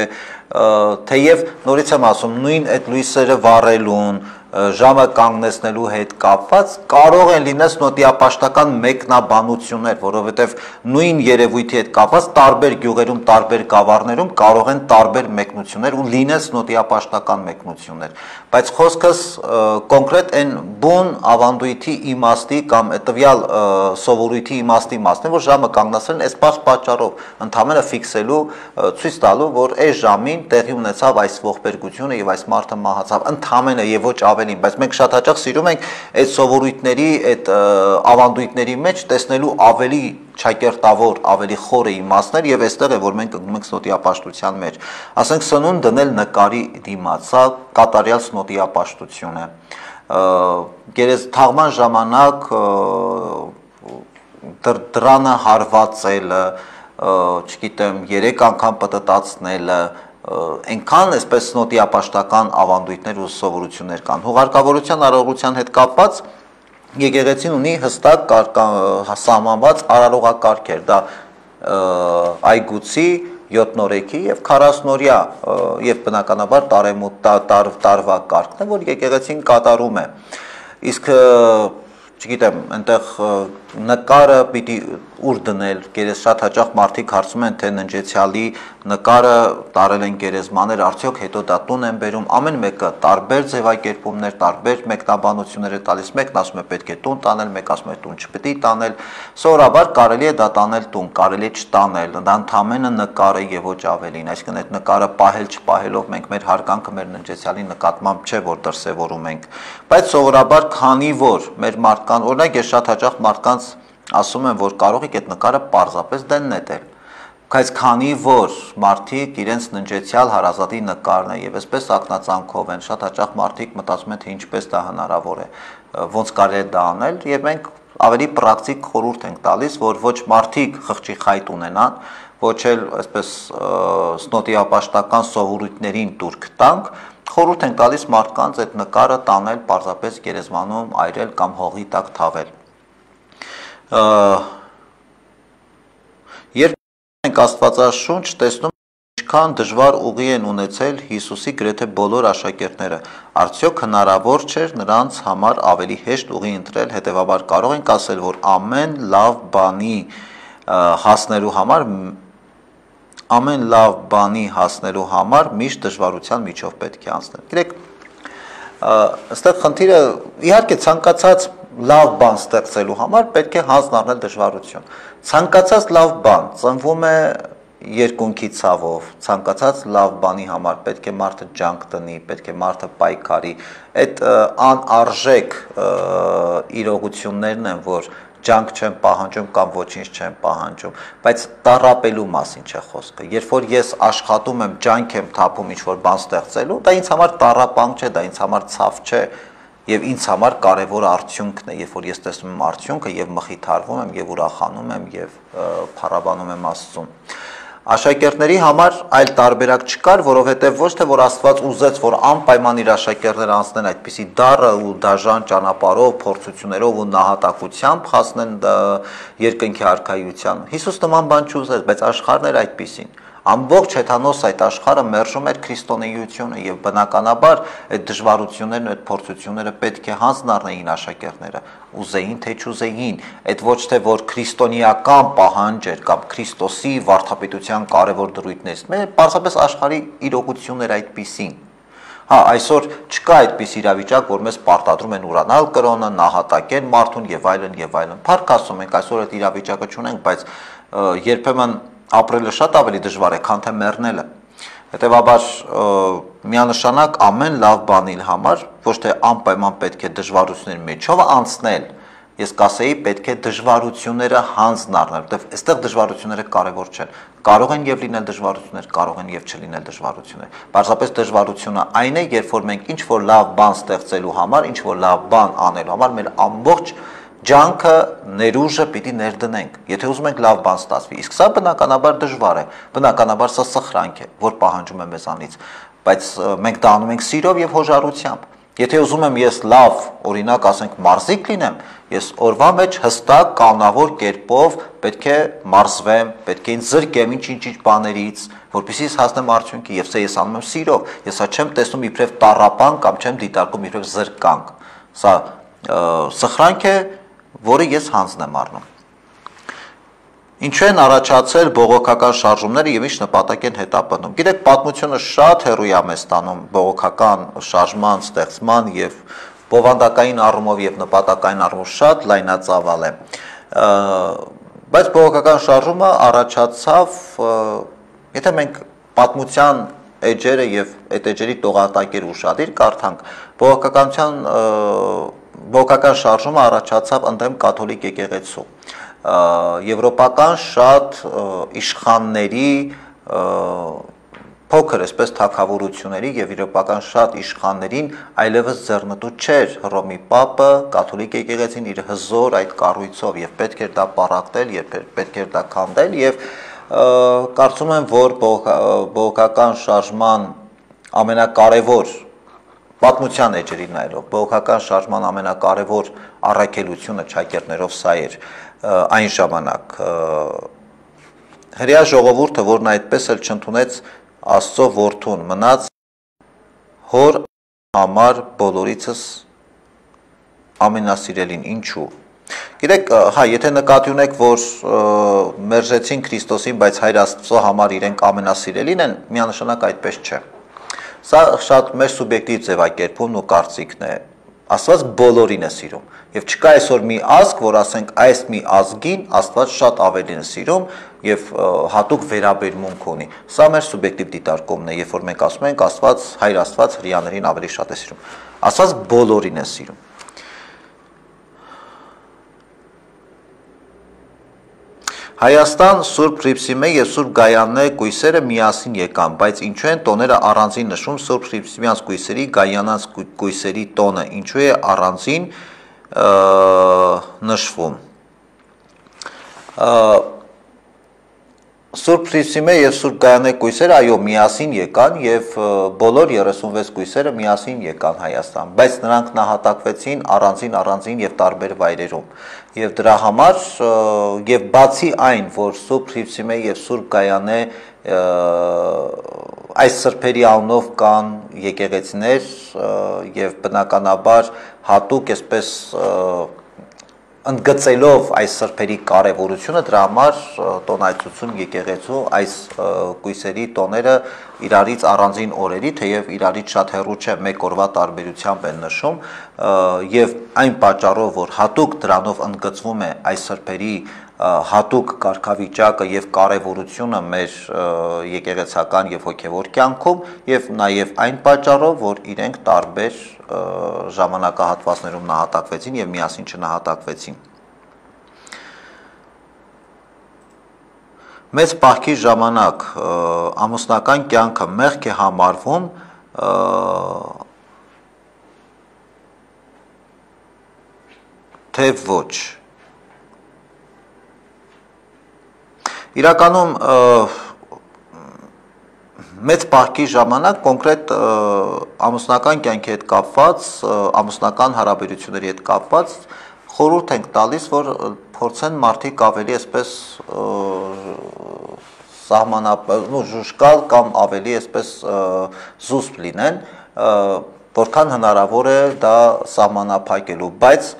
A: թեև նորից եմ ասում, նույն այդ լույսերը վառելուն, ժամը կանգնեցնելու հետ կապված կարող են լինել սնոտիապաշտական մեկնաբանություններ, որովհետև նույն երևույթի հետ կապված տարբեր գյուղերում, տարբեր գավառներում կարող են տարբեր մեկնություններ ու լինել սնոտիապաշտական մեկնություններ, բայց խոսքս կոնկրետ այն բուն ավանդույթի իմաստի կամ տվյալ սովորույթի իմաստի մասն է, որ ժամը կանգնեցնելն այս պատճառով ընդհանրապես ֆիքսելու, ցույց տալու, որ այս ժամին տեղի ունեցավ այս ողբերգությունը եւ այս մարդը մահացավ, ընդհանրապես եւ ոչ ավելին, բայց մենք շատ հաճախ սիրում ենք այդ սովորույթների, այդ ավանդույթների մեջ տեսնելու ավելի ճակերտավոր, ավելի խորը իմաստներ եւ այստեղ է, որ մենք ընկնում ենք սնոտիապաշտության մեջ։ Ասենք սնունդ դնել նկարի դիմաց, սա կատարյալ սնոտիապաշտություն է։ Թաղման ժամանակ դրանը հարվածելը, չգիտեմ, 3 անգամ պտտացնելը, այնքան այսպես սնոտիապաշտական ավանդույթներ ու սովորություններ կան։ Հուղարկավորության արարողության հետ կապված եկեղեցին ունի հստակ սահմանված արարողակարգեր, դա այգուցի, 7-օրեքի եւ 40-օրյա եւ բնականաբար տարվա կարգն է, որ եկեղեցին կատարում է։ Իսկ չգիտեմ, այնտեղ նկարը պիտի ուր դնել, շատ հաճախ մարդիկ հարցում են, թե ննջեցյալի նկարը տարել են գերեզմաներ, արդյոք հետո դա տուն են բերում, ամեն մեկը տարբեր ձևակերպումներ, տարբեր մեկնաբանություններ է տալիս, մեկն ասում է պետք է տուն տանել, մեկ ասում է տուն չպետք է տանել, սովորաբար կարելի է դա տանել տուն, կարելի է չտանել, դա ընդամենը նկար է եւ ոչ ավելին, այսինքն այդ նկարը պահել չպահելով մենք մեր հարգանքը մեր ննջեցյալի նկատմամբ չէ, որ դրսևորում ենք, բայց սովորաբար քանի որ մեր մարդկան, օրինակ ես շատ հաճախ մարդկանց ասում եմ, որ կարող եք այդ նկարը պարզապես դեն նետել, բայց քանի որ մարդիկ իրենց ննջեցյալ հարազատի նկարն է եւ այսպես ակնածանքով են, շատ հաճախ մարդիկ մտածում են, թե ինչպես դա հնարավոր է, ոնց կարելի է դա անել եւ մենք ավելի պրակտիկ խորհուրդ ենք տալիս, որ ոչ մարդիկ խղճի խայտ ունենան, ոչ էլ այսպես սնոտիապաշտական սովորույթներին տուրք տանք, խորհուրդ ենք տալիս մարդկանց այդ նկարը տանել պարզապես գերեզմանում այրել կամ հողի տակ թաղել։ Երբ ենք Աստվածաշունչ տեսնում ինչքան դժվար ուղի են ունեցել Հիսուսի գրեթե բոլոր աշակերտները, արդյոք հնարավոր չէր նրանց համար ավելի հեշտ ուղի ընտրել, հետևաբար կարող ենք ասել, որ ամեն լավ բանի հասնելու համար միշտ դժվարության միջով պետք է անցնել։ Գիտեք, այստեղ խնդիրը իհարկե ցանկացած լավ բան ստեղծելու համար պետք է հանձն առնել դժվարություն։ Ցանկացած լավ բան ծնվում է երկունքի ցավով, ցանկացած լավ բանի համար պետք է մարդը ջանք տնի, պետք է մարդը պայքարի։ Այդ անարժեք իրողություններն են, որ ջանք չեմ պահանջում կամ ոչինչ չեմ պահանջում, բայց տառապելու մասին չէ խոսքը։ Երբ որ ես աշխատում եմ, ջանք եմ թափում ինչ-որ բան ստեղծելու, դա ինձ համար տառապանք չէ, դա ինձ համար ցավ չէ, եւ ինձ համար կարևոր արդյունքն է, երբ որ ես տեսնում եմ արդյունքը եւ մխիթարվում եմ եւ ուրախանում եմ եւ փառաբանում եմ Աստծուն։ Աշակերտների համար այլ տարբերակ չկար, որովհետև ոչ թե որ Աստված ուզեց, որ անպայման իր աշակերտները անցնեն այդպիսի դառը ու դաժան ճանապարհով, փորձություններով ու նահատակությամբ հասնեն երկնքի արքայության։ Հիսուս նման բան չուզեց, բայց աշխարհն էր այդպիսին։ Ամբողջ հեթանոս այդ աշխարհը մերժում էր քրիստոնեությունը եւ բնականաբար այդ դժվարություններն ու այդ փորձությունները պետք է հանձն առնեին աշակերտները, ուզեին թե չուզեին, այդ ոչ թե որ քրիստոնեական պահանջ էր կամ Քրիստոսի վարդապետության կարևոր դրույթներից, պարզապես աշխարհի իրողություններ այդպիսին։ Հա, այսօր չկա այդպես իրավիճակ, որ մեզ պարտադրում են ուրանալ կրոնը, նահատակեն մարդուն եւ այլն եւ այլն։ Փառք Աստծո, մենք այսօր այդ իրավիճակը չունենք, բայց երբեմն ապրելը շատ ավելի դժվար է, քան թե մեռնելը։ Հետևաբար միանշանակ ամեն լավ բանի համար ոչ թե անպայման պետք է դժվարությունների միջով անցնել, ես կասեի պետք է դժվարությունները հանձն առնել, որտեղ այստեղ դժվարությունները կարևոր չեն։ Կարող են եւ լինել դժվարություններ, կարող են եւ չլինել դժվարություններ։ Պարզապես դժվարությունը այն է, երբ որ մենք ինչ որ լավ բան ստեղծելու համար, ինչ որ լավ բան անելու համար մեր ամբողջ ջանքը, ներուժը պիտի ներդնենք, եթե ուզում ենք լավ բան ստացվի, իսկ սա բնականաբար դժվար է, բնականաբար սա սխրանք է, որ պահանջում է մեզանից, բայց մենք դա անում ենք սիրով եւ հոժարությամբ։ Եթե ուզում եմ ես լավ, օրինակ ասենք մարզիկ լինեմ, ես օրվա մեջ հստակ կանոնավոր կերպով պետք է մարզվեմ, պետք է ինձ զրկեմ ինչ բաներից, որպեսզի ես հասնեմ արդյունքի, եւ սա ես անում եմ սիրով, ես սա չեմ տեսնում իբրև տառապան կամ չեմ դիտարկում իբրև զրկանք, սա սխրանք է, որը ես հանձն եմ առնում։ Ինչու են առաջացել բողոքական շարժումները եւ ինչ նպատակ են հետապնդում։ Գիտեք, պատմությունը շատ հեռու է մեզ տանում բողոքական շարժման ստեղծման եւ բովանդակային առումով եւ նպատակային առումով շատ լայնածավալ է։ Բայց բողոքական շարժումը առաջացավ, եթե մենք պատմության էջերը եւ այդ էջերի տողատակերը ուշադիր կարդանք, բողոքական շարժումը առաջացավ ընդդեմ կաթոլիկ եկեղեցու։ Եվրոպական շատ իշխանների փոքր այսպես թագավորությունների եւ եվրոպական շատ իշխաններին այլևս ձեռնտու չէր Հռոմի Պապը, կաթոլիկ եկեղեցին իր հզոր այդ կառույցով եւ պետք էր դա պառակտել եւ պետք էր դա քանդել եւ կարծում եմ, որ բողոքական շարժման ամենակարևոր պատմության էջերին նայելով, բողոքական շարժման ամենակարևոր առաքելությունը ճակերտներով սա էր այն ժամանակ հրեա ժողովուրդը, որն այդպես էլ չընդունեց Աստծո որդուն, մնաց հոր համար բոլորիցս ամենասիրելին, ինչու։ Գիտեք, հա, եթե նկատի ունեք, որ մերժեցին Քրիստոսին, բայց Հայր Աստծո համար իրենք ամենասիրելին են, միանշանակ այդպես չէ։ Սա շատ մեր սուբյեկտիվ ձևակերպումն ու կարծիքն է։ Աստված բոլորին է սիրում եւ չկա այսօր մի ազգ, որ ասենք այս մի ազգին Աստված շատ ավելին է սիրում եւ հատուկ վերաբերմունք ունի։ Սա մեր սուբյեկտիվ դիտարկումն է, երբ որ մենք ասում ենք Աստված, Հայր Աստված հրեաներին ավելի շատ է սիրում։ Աստված բոլորին է սիրում։ Հայաստան Սուրբ Հռիփսիմե եւ Սուրբ Գայանե կույսերը միասին եկան, բայց ինչու են տոները առանձին նշում Սուրբ Հռիփսիմյանց կույսերի, Գայանանց կույսերի տոնը, ինչու է առանձին նշվում։ Սուրբ Հրիսիմե եւ Սուրբ Գայանե կույսերը այո միասին եկան եւ բոլոր 36 կույսերը միասին եկան Հայաստան, բայց նրանք նահատակվեցին առանձին եւ տարբեր վայրերում։ Եվ դրա համար եւ բացի այն, որ Սուրբ Հրիսիմե եւ Սուրբ Գայանե այս սրբերի անունով կան եկեղեցիներ եւ բնականաբար հատուկ այսպես ընդգծելով այս սրբերի կարևորությունը, դրա համար տոնայցություն եկեղեցու այս կույսերի տոները իրարից առանձին օրերի, թեև իրարից շատ հեռու չէ, մեկ օրվա տարբերությամբ են նշում, եւ այն պատճառով, որ հատուկ դրանով ընդգծվում է այս սրբերի հատուկ կարգավիճակը եւ կարևորությունը մեր եկեղեցական եւ հոգեվոր կյանքում եւ նաեւ այն պատճառով, որ իրենք տարբեր ժամանակահատվածներում նահատակվեցին եւ միասին չնահատակվեցին։ Մեծ պահքի ժամանակ ամուսնական կյանքը մեղք է համարվում թե ոչ։ Իրականում մեծ պահքի ժամանակ կոնկրետ ամուսնական կյանքի հետ կապված, ամուսնական հարաբերությունների հետ կապված խորհուրդ ենք տալիս, որ փորձեն մարդիկ ավելի այսպես ժուշկալ կամ ավելի այսպես զուսպ լինեն, որքան հնարավոր է դա սահմանափակելու, բայց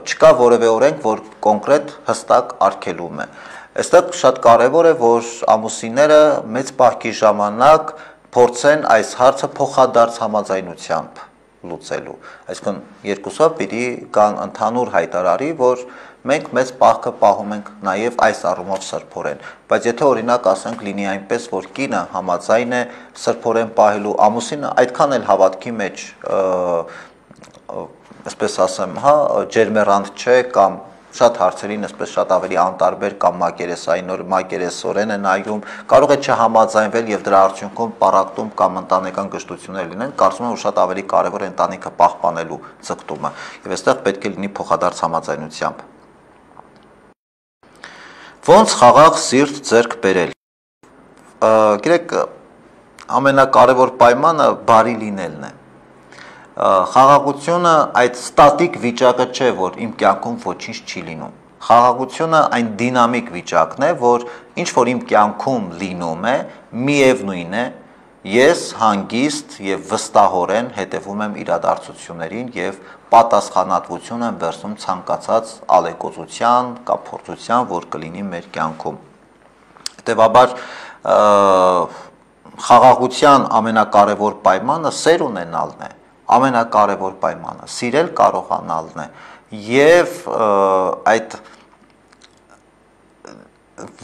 A: չկա որևէ օրենք, որ կոնկրետ հստակ արգելում է։ Այստեղ շատ կարևոր է, որ ամուսինները մեծ պահքի ժամանակ փորձեն այս հարցը փոխադարձ համաձայնությամբ լուծելու։ Այսինքն երկուսով պիտի կան ընդհանուր հայտարարի, որ մենք մեծ պահքը պահում ենք նաև այս առումով սրբորեն։ Բայց եթե օրինակ ասենք լինի այնպես, որ կինը համաձայն է սրբորեն պահելու, ամուսինը այդքան էլ հավատքի մեջ այսպես ասեմ, ջերմեռանդ չէ կամ շատ հարցերին այսպես շատ ավելի անտարբեր կամ մակերեսորեն է նայում, կարող է չհամաձայնվել եւ դրա արդյունքում պառակտում կամ ընտանեկան գժտություններ լինեն, կարծում եմ, որ շատ ավելի կարեւոր է ընտանիքը պահպանելու ձգտումը եւ այստեղ պետք է լինի փոխադարձ համաձայնությամբ։ Ոնց խաղաղ սիրտ ձեռք բերել։ Գիտեք, ամենակարևոր պայմանը բարի լինելն է։ Խաղաղությունը այդ ստատիկ վիճակը չէ, որ իմ կյանքում ոչինչ չի լինում։ Խաղաղությունը այն դինամիկ վիճակն է, որ ինչ որ իմ կյանքում լինում է, միևնույն է, ես հանգիստ եւ վստահորեն հետևում եմ իրադարձություններին եւ պատասխանատվություն եմ վերցնում ցանկացած ալեկոծության կամ փորձության, որ կլինի մեր կյանքում։ Հետևաբար խաղաղության ամենակարևոր պայմանը սեր ունենալն է, ամենակարևոր պայմանը սիրել կարողանալն է եւ այդ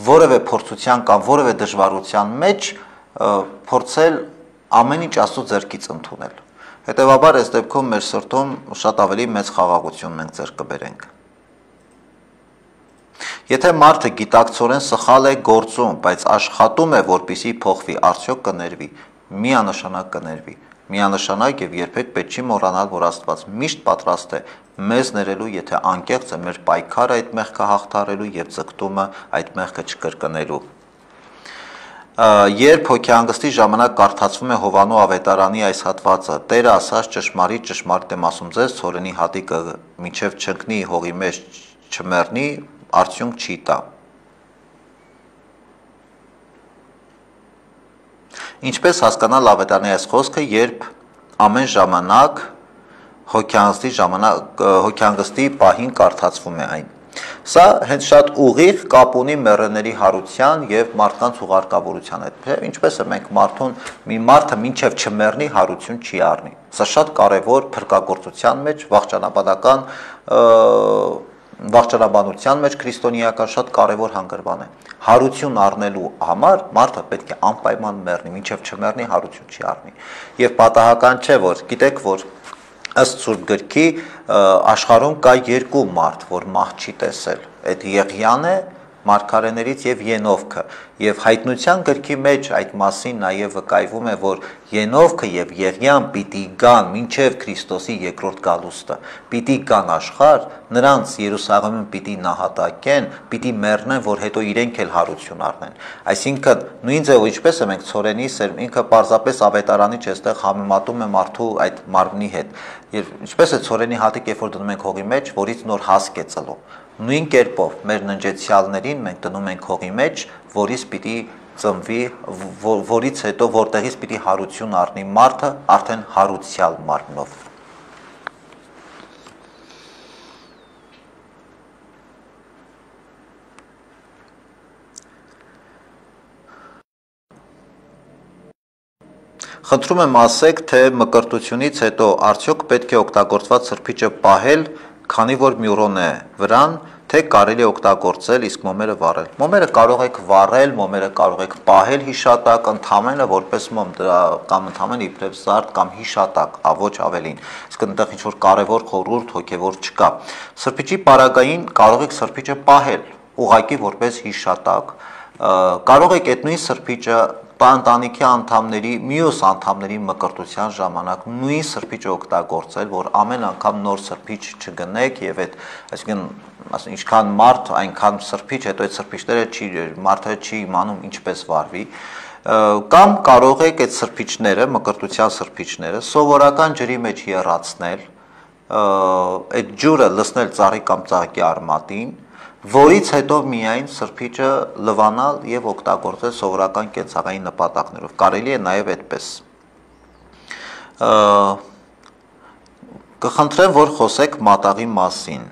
A: որևէ փորձության կամ որևէ դժվարության մեջ փորձել ամեն ինչ Աստծո ձեռքից ընդունել։ Հետևաբար այս դեպքում մեր սրտում շատ ավելի մեծ խաղաղություն մենք ձեռք կբերենք։ Եթե մարդը գիտակցորեն սխալ է գործում, բայց աշխատում է, որպեսզի փոխվի, արդյոք կներվի, միանշանակ կներվի։ Միանշանակ եւ երբեք պետք չի մոռանալ, որ Աստված միշտ պատրաստ է մեզ ներելու, եթե անկեղծ է մեր պայքարը այդ մեղքը հաղթահարելու եւ ձգտումը այդ մեղքը չկրկնելու։ Երբ հոգեհանգստի ժամանակ կարդացվում է Հովանու ավետարանի այս հատվածը, Տերը ասաց ճշմարիտ եմ ասում ձեզ, ցորենի հատիկը մինչև չընկնի հողի մեջ չմեռնի, արդյունք չի տա։ Ինչպես հասկանալ ավետարանի այս խոսքը, երբ ամեն ժամանակ հոգեհանգստի պահին կարդացվում է այն։ Սա հենց շատ ուղիղ կապ ունի մեռելների հարության եւ մարդկանց ուղարկավորության հետ։ Ինչպես է մենք մի մարդը մինչև չմեռնի հարություն չի առնի։ Սա շատ կարեւոր փրկagorցության մեջ, վաղճանաբանության մեջ քրիստոնեական շատ կարևոր հանգրվան է։ Հարություն առնելու համար մարդը պետք է անպայման մեռնի, մինչև չմեռնի հարություն չի առնի։ Եվ պատահական չէ, որ գիտեք, որ ըստ Սուրբ գրքի աշխարհում կա երկու մարդ, որ մահ չի տեսել։ Այդ Եղիան է մարգարեներից եւ Ենովքը եւ հայտնության գրքի մեջ այդ մասին նաեւ վկայվում է, որ Ենովքը եւ Եղիան պիտի գան մինչեւ Քրիստոսի երկրորդ գալուստը, պիտի գան աշխարհ, նրանց Երուսաղեմում պիտի նահատակեն, պիտի մեռնեն, որ հետո իրենք էլ հարություն առնեն։ Այսինքն նույն ձևով ինչպես է մենք ցորենի ինքը պարզապես ավետարանիչ էստեղ համեմատում է մարդու այդ մարմնի հետ։ Եվ ինչպես է ցորենի հատիկ, երբ որ դնում ենք հողի մեջ, որից նոր հասկ է ծլում։ Նույն կերպով մեր ննջեցյալներին մենք դնում ենք հողի մեջ, որից պիտի ծնվի, որից հետո որտեղից պիտի հարություն առնի մարդը արդեն հարուցյալ մարմնով։ Խնդրում եմ ասեք, թե մկրտությունից հետո արդյոք պետք է օգտագործված սրբիչը պահել, քանի որ մյուրոն է վրան, թե կարելի է օգտագործել, իսկ մոմերը վառել։ Մոմերը կարող եք վառել, մոմերը կարող եք պահել հիշատակ, ընդհանրապես որպես մոմ կամ ընդհանրապես իբրև զարդ կամ հիշատակ, ոչ ավելին։ Իսկ այնտեղ ինչ որ կարևոր խորհուրդ հոգևոր չկա։ Սրբիչի պարագային կարող եք սրբիչը պահել, ուղղակի որպես հիշատակ։ Կարող եք այդ նույն սրբիչը ընտանիքի անդամների, մյուս անդամների մկրտության ժամանակ նույն սրբիչը օգտագործել, որ ամեն անգամ նոր սրբիչ չգնեք եւ այդ, այսինքն, ինչքան մարդ, այնքան սրբիչ, հետո այդ սրբիչները մարդը չի իմանում ինչպես վարվի, կամ կարող եք այդ սրբիչները, մկրտության սրբիչները սովորական ջրի մեջ եռացնել, այդ ջուրը լցնել ծառի կամ ծաղկի արմատին, որից հետո միայն սրբիչը լվանալ եւ օգտագործել սովորական կենցաղային նպատակներով։ Կարելի է նաեւ այդպես։ Կխնդրեմ, որ խոսեք մատաղի մասին։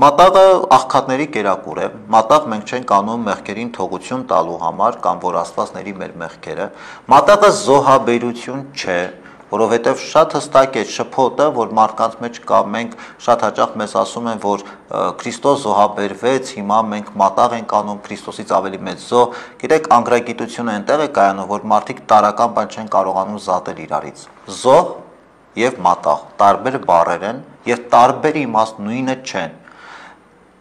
A: Մատաղը աղքատների կերակուր է, մատաղ մենք չենք անում մեղքերին թողություն տալու համար կամ որ Աստվածների մեր մեղքերը, մատաղը զոհաբերություն չէ, որովհետև շատ հստակ է շփոթը, որ մարդկանց մեջ կա, մենք շատ հաճախ մեզ ասում են, որ Քրիստոս զոհաբերվեց, հիմա մենք մատաղ ենք անում, Քրիստոսից ավելի մեծ զոհ, գիտեք, անգրագիտությունը այնտեղ է կայանում, որ մարդիկ տարական բան չեն կարողանում զատել իրարից։ Զոհ եւ մատաղ տարբեր բառեր են եւ տարբեր իմաստ նույնը չեն։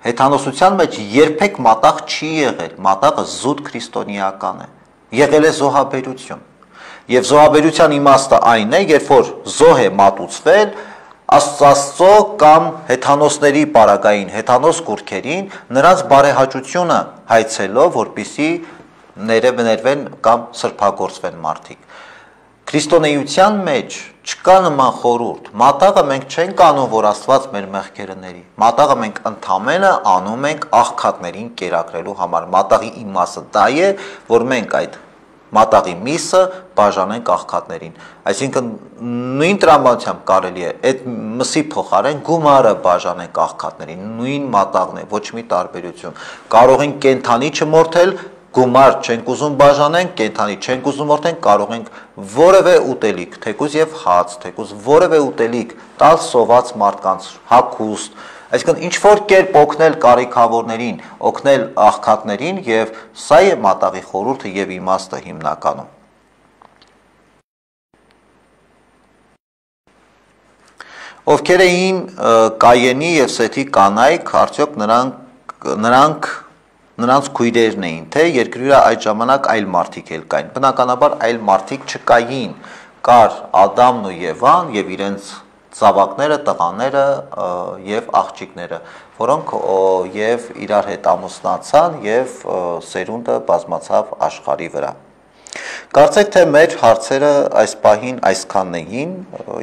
A: Հեթանոսության մեջ երբեք մատաղ չի եղել, մատաղը զուտ քրիստոնեական է, եղել է զոհաբերություն։ Եվ զոհաբերության իմաստը այն է, երբ որ զոհ է մատուցվել, Աստծո կամ հեթանոսների պարագային, հեթանոս կուռքերին նրանց բարեհաճությունը հայցելով, որպեսզի ներվեն կամ սրբագործվեն մարդիկ։ Քրիստոնեության մեջ չկա նման խորհուրդ։ Մատաղը մենք չենք անում, որ Աստված մեր մեղքերը ների։ Մատաղը մենք ընդամենը անում ենք աղքատներին կերակրելու համար։ Մատաղի իմաստը դա է, որ մենք այդ մատաղի միսը բաժանենք աղքատներին։ Այսինքն նույն տրամադրությամբ կարելի է այդ մսի փոխարեն գումարը բաժանենք աղքատներին, նույն մատաղն է, ոչ մի տարբերություն։ Կարող ենք կենթանի չմորթել, գումար չենք ուզում բաժանենք, կենթանի չենք ուզում մորթենք, կարող ենք որևէ ուտելիք, թեկուզ եւ հաց, թեկուզ որևէ ուտելիք տալ սոված մարդկանց, հագուստ, այսինքն ինչ որ կերպ օգնել կարիքավորներին, օգնել աղքատներին եւ սա է մատաղի խորհուրդը եւ իմաստը հիմնականում։ Ովքեր էին Կայենի եւ Սեթի կանայք, արդյոք նրանց քույրերն էին, թե երկրի վրա այդ ժամանակ այլ մարդիկ էլ կային։ Բնականաբար այլ մարդիկ չկային, կար Ադամն ու Եվան եւ իրենց զավակները, տղաները եւ աղջիկները, որոնք եւ իրար հետ ամուսնացան եւ սերունդը բազմացավ աշխարհի վրա։ Կարծեք թե մեր հարցերը այս պահին այսքանն էին,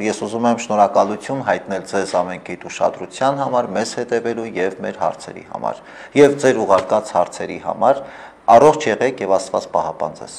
A: ես ուզում եմ շնորհակալություն հայտնել ձեզ ամենքիդ ուշադրության համար, մեզ հետևելու եւ մեր հարցերի համար եւ ձեր ուղարկած հարցերի համար, առողջ եղեք եւ Աստված պահապան ձեզ։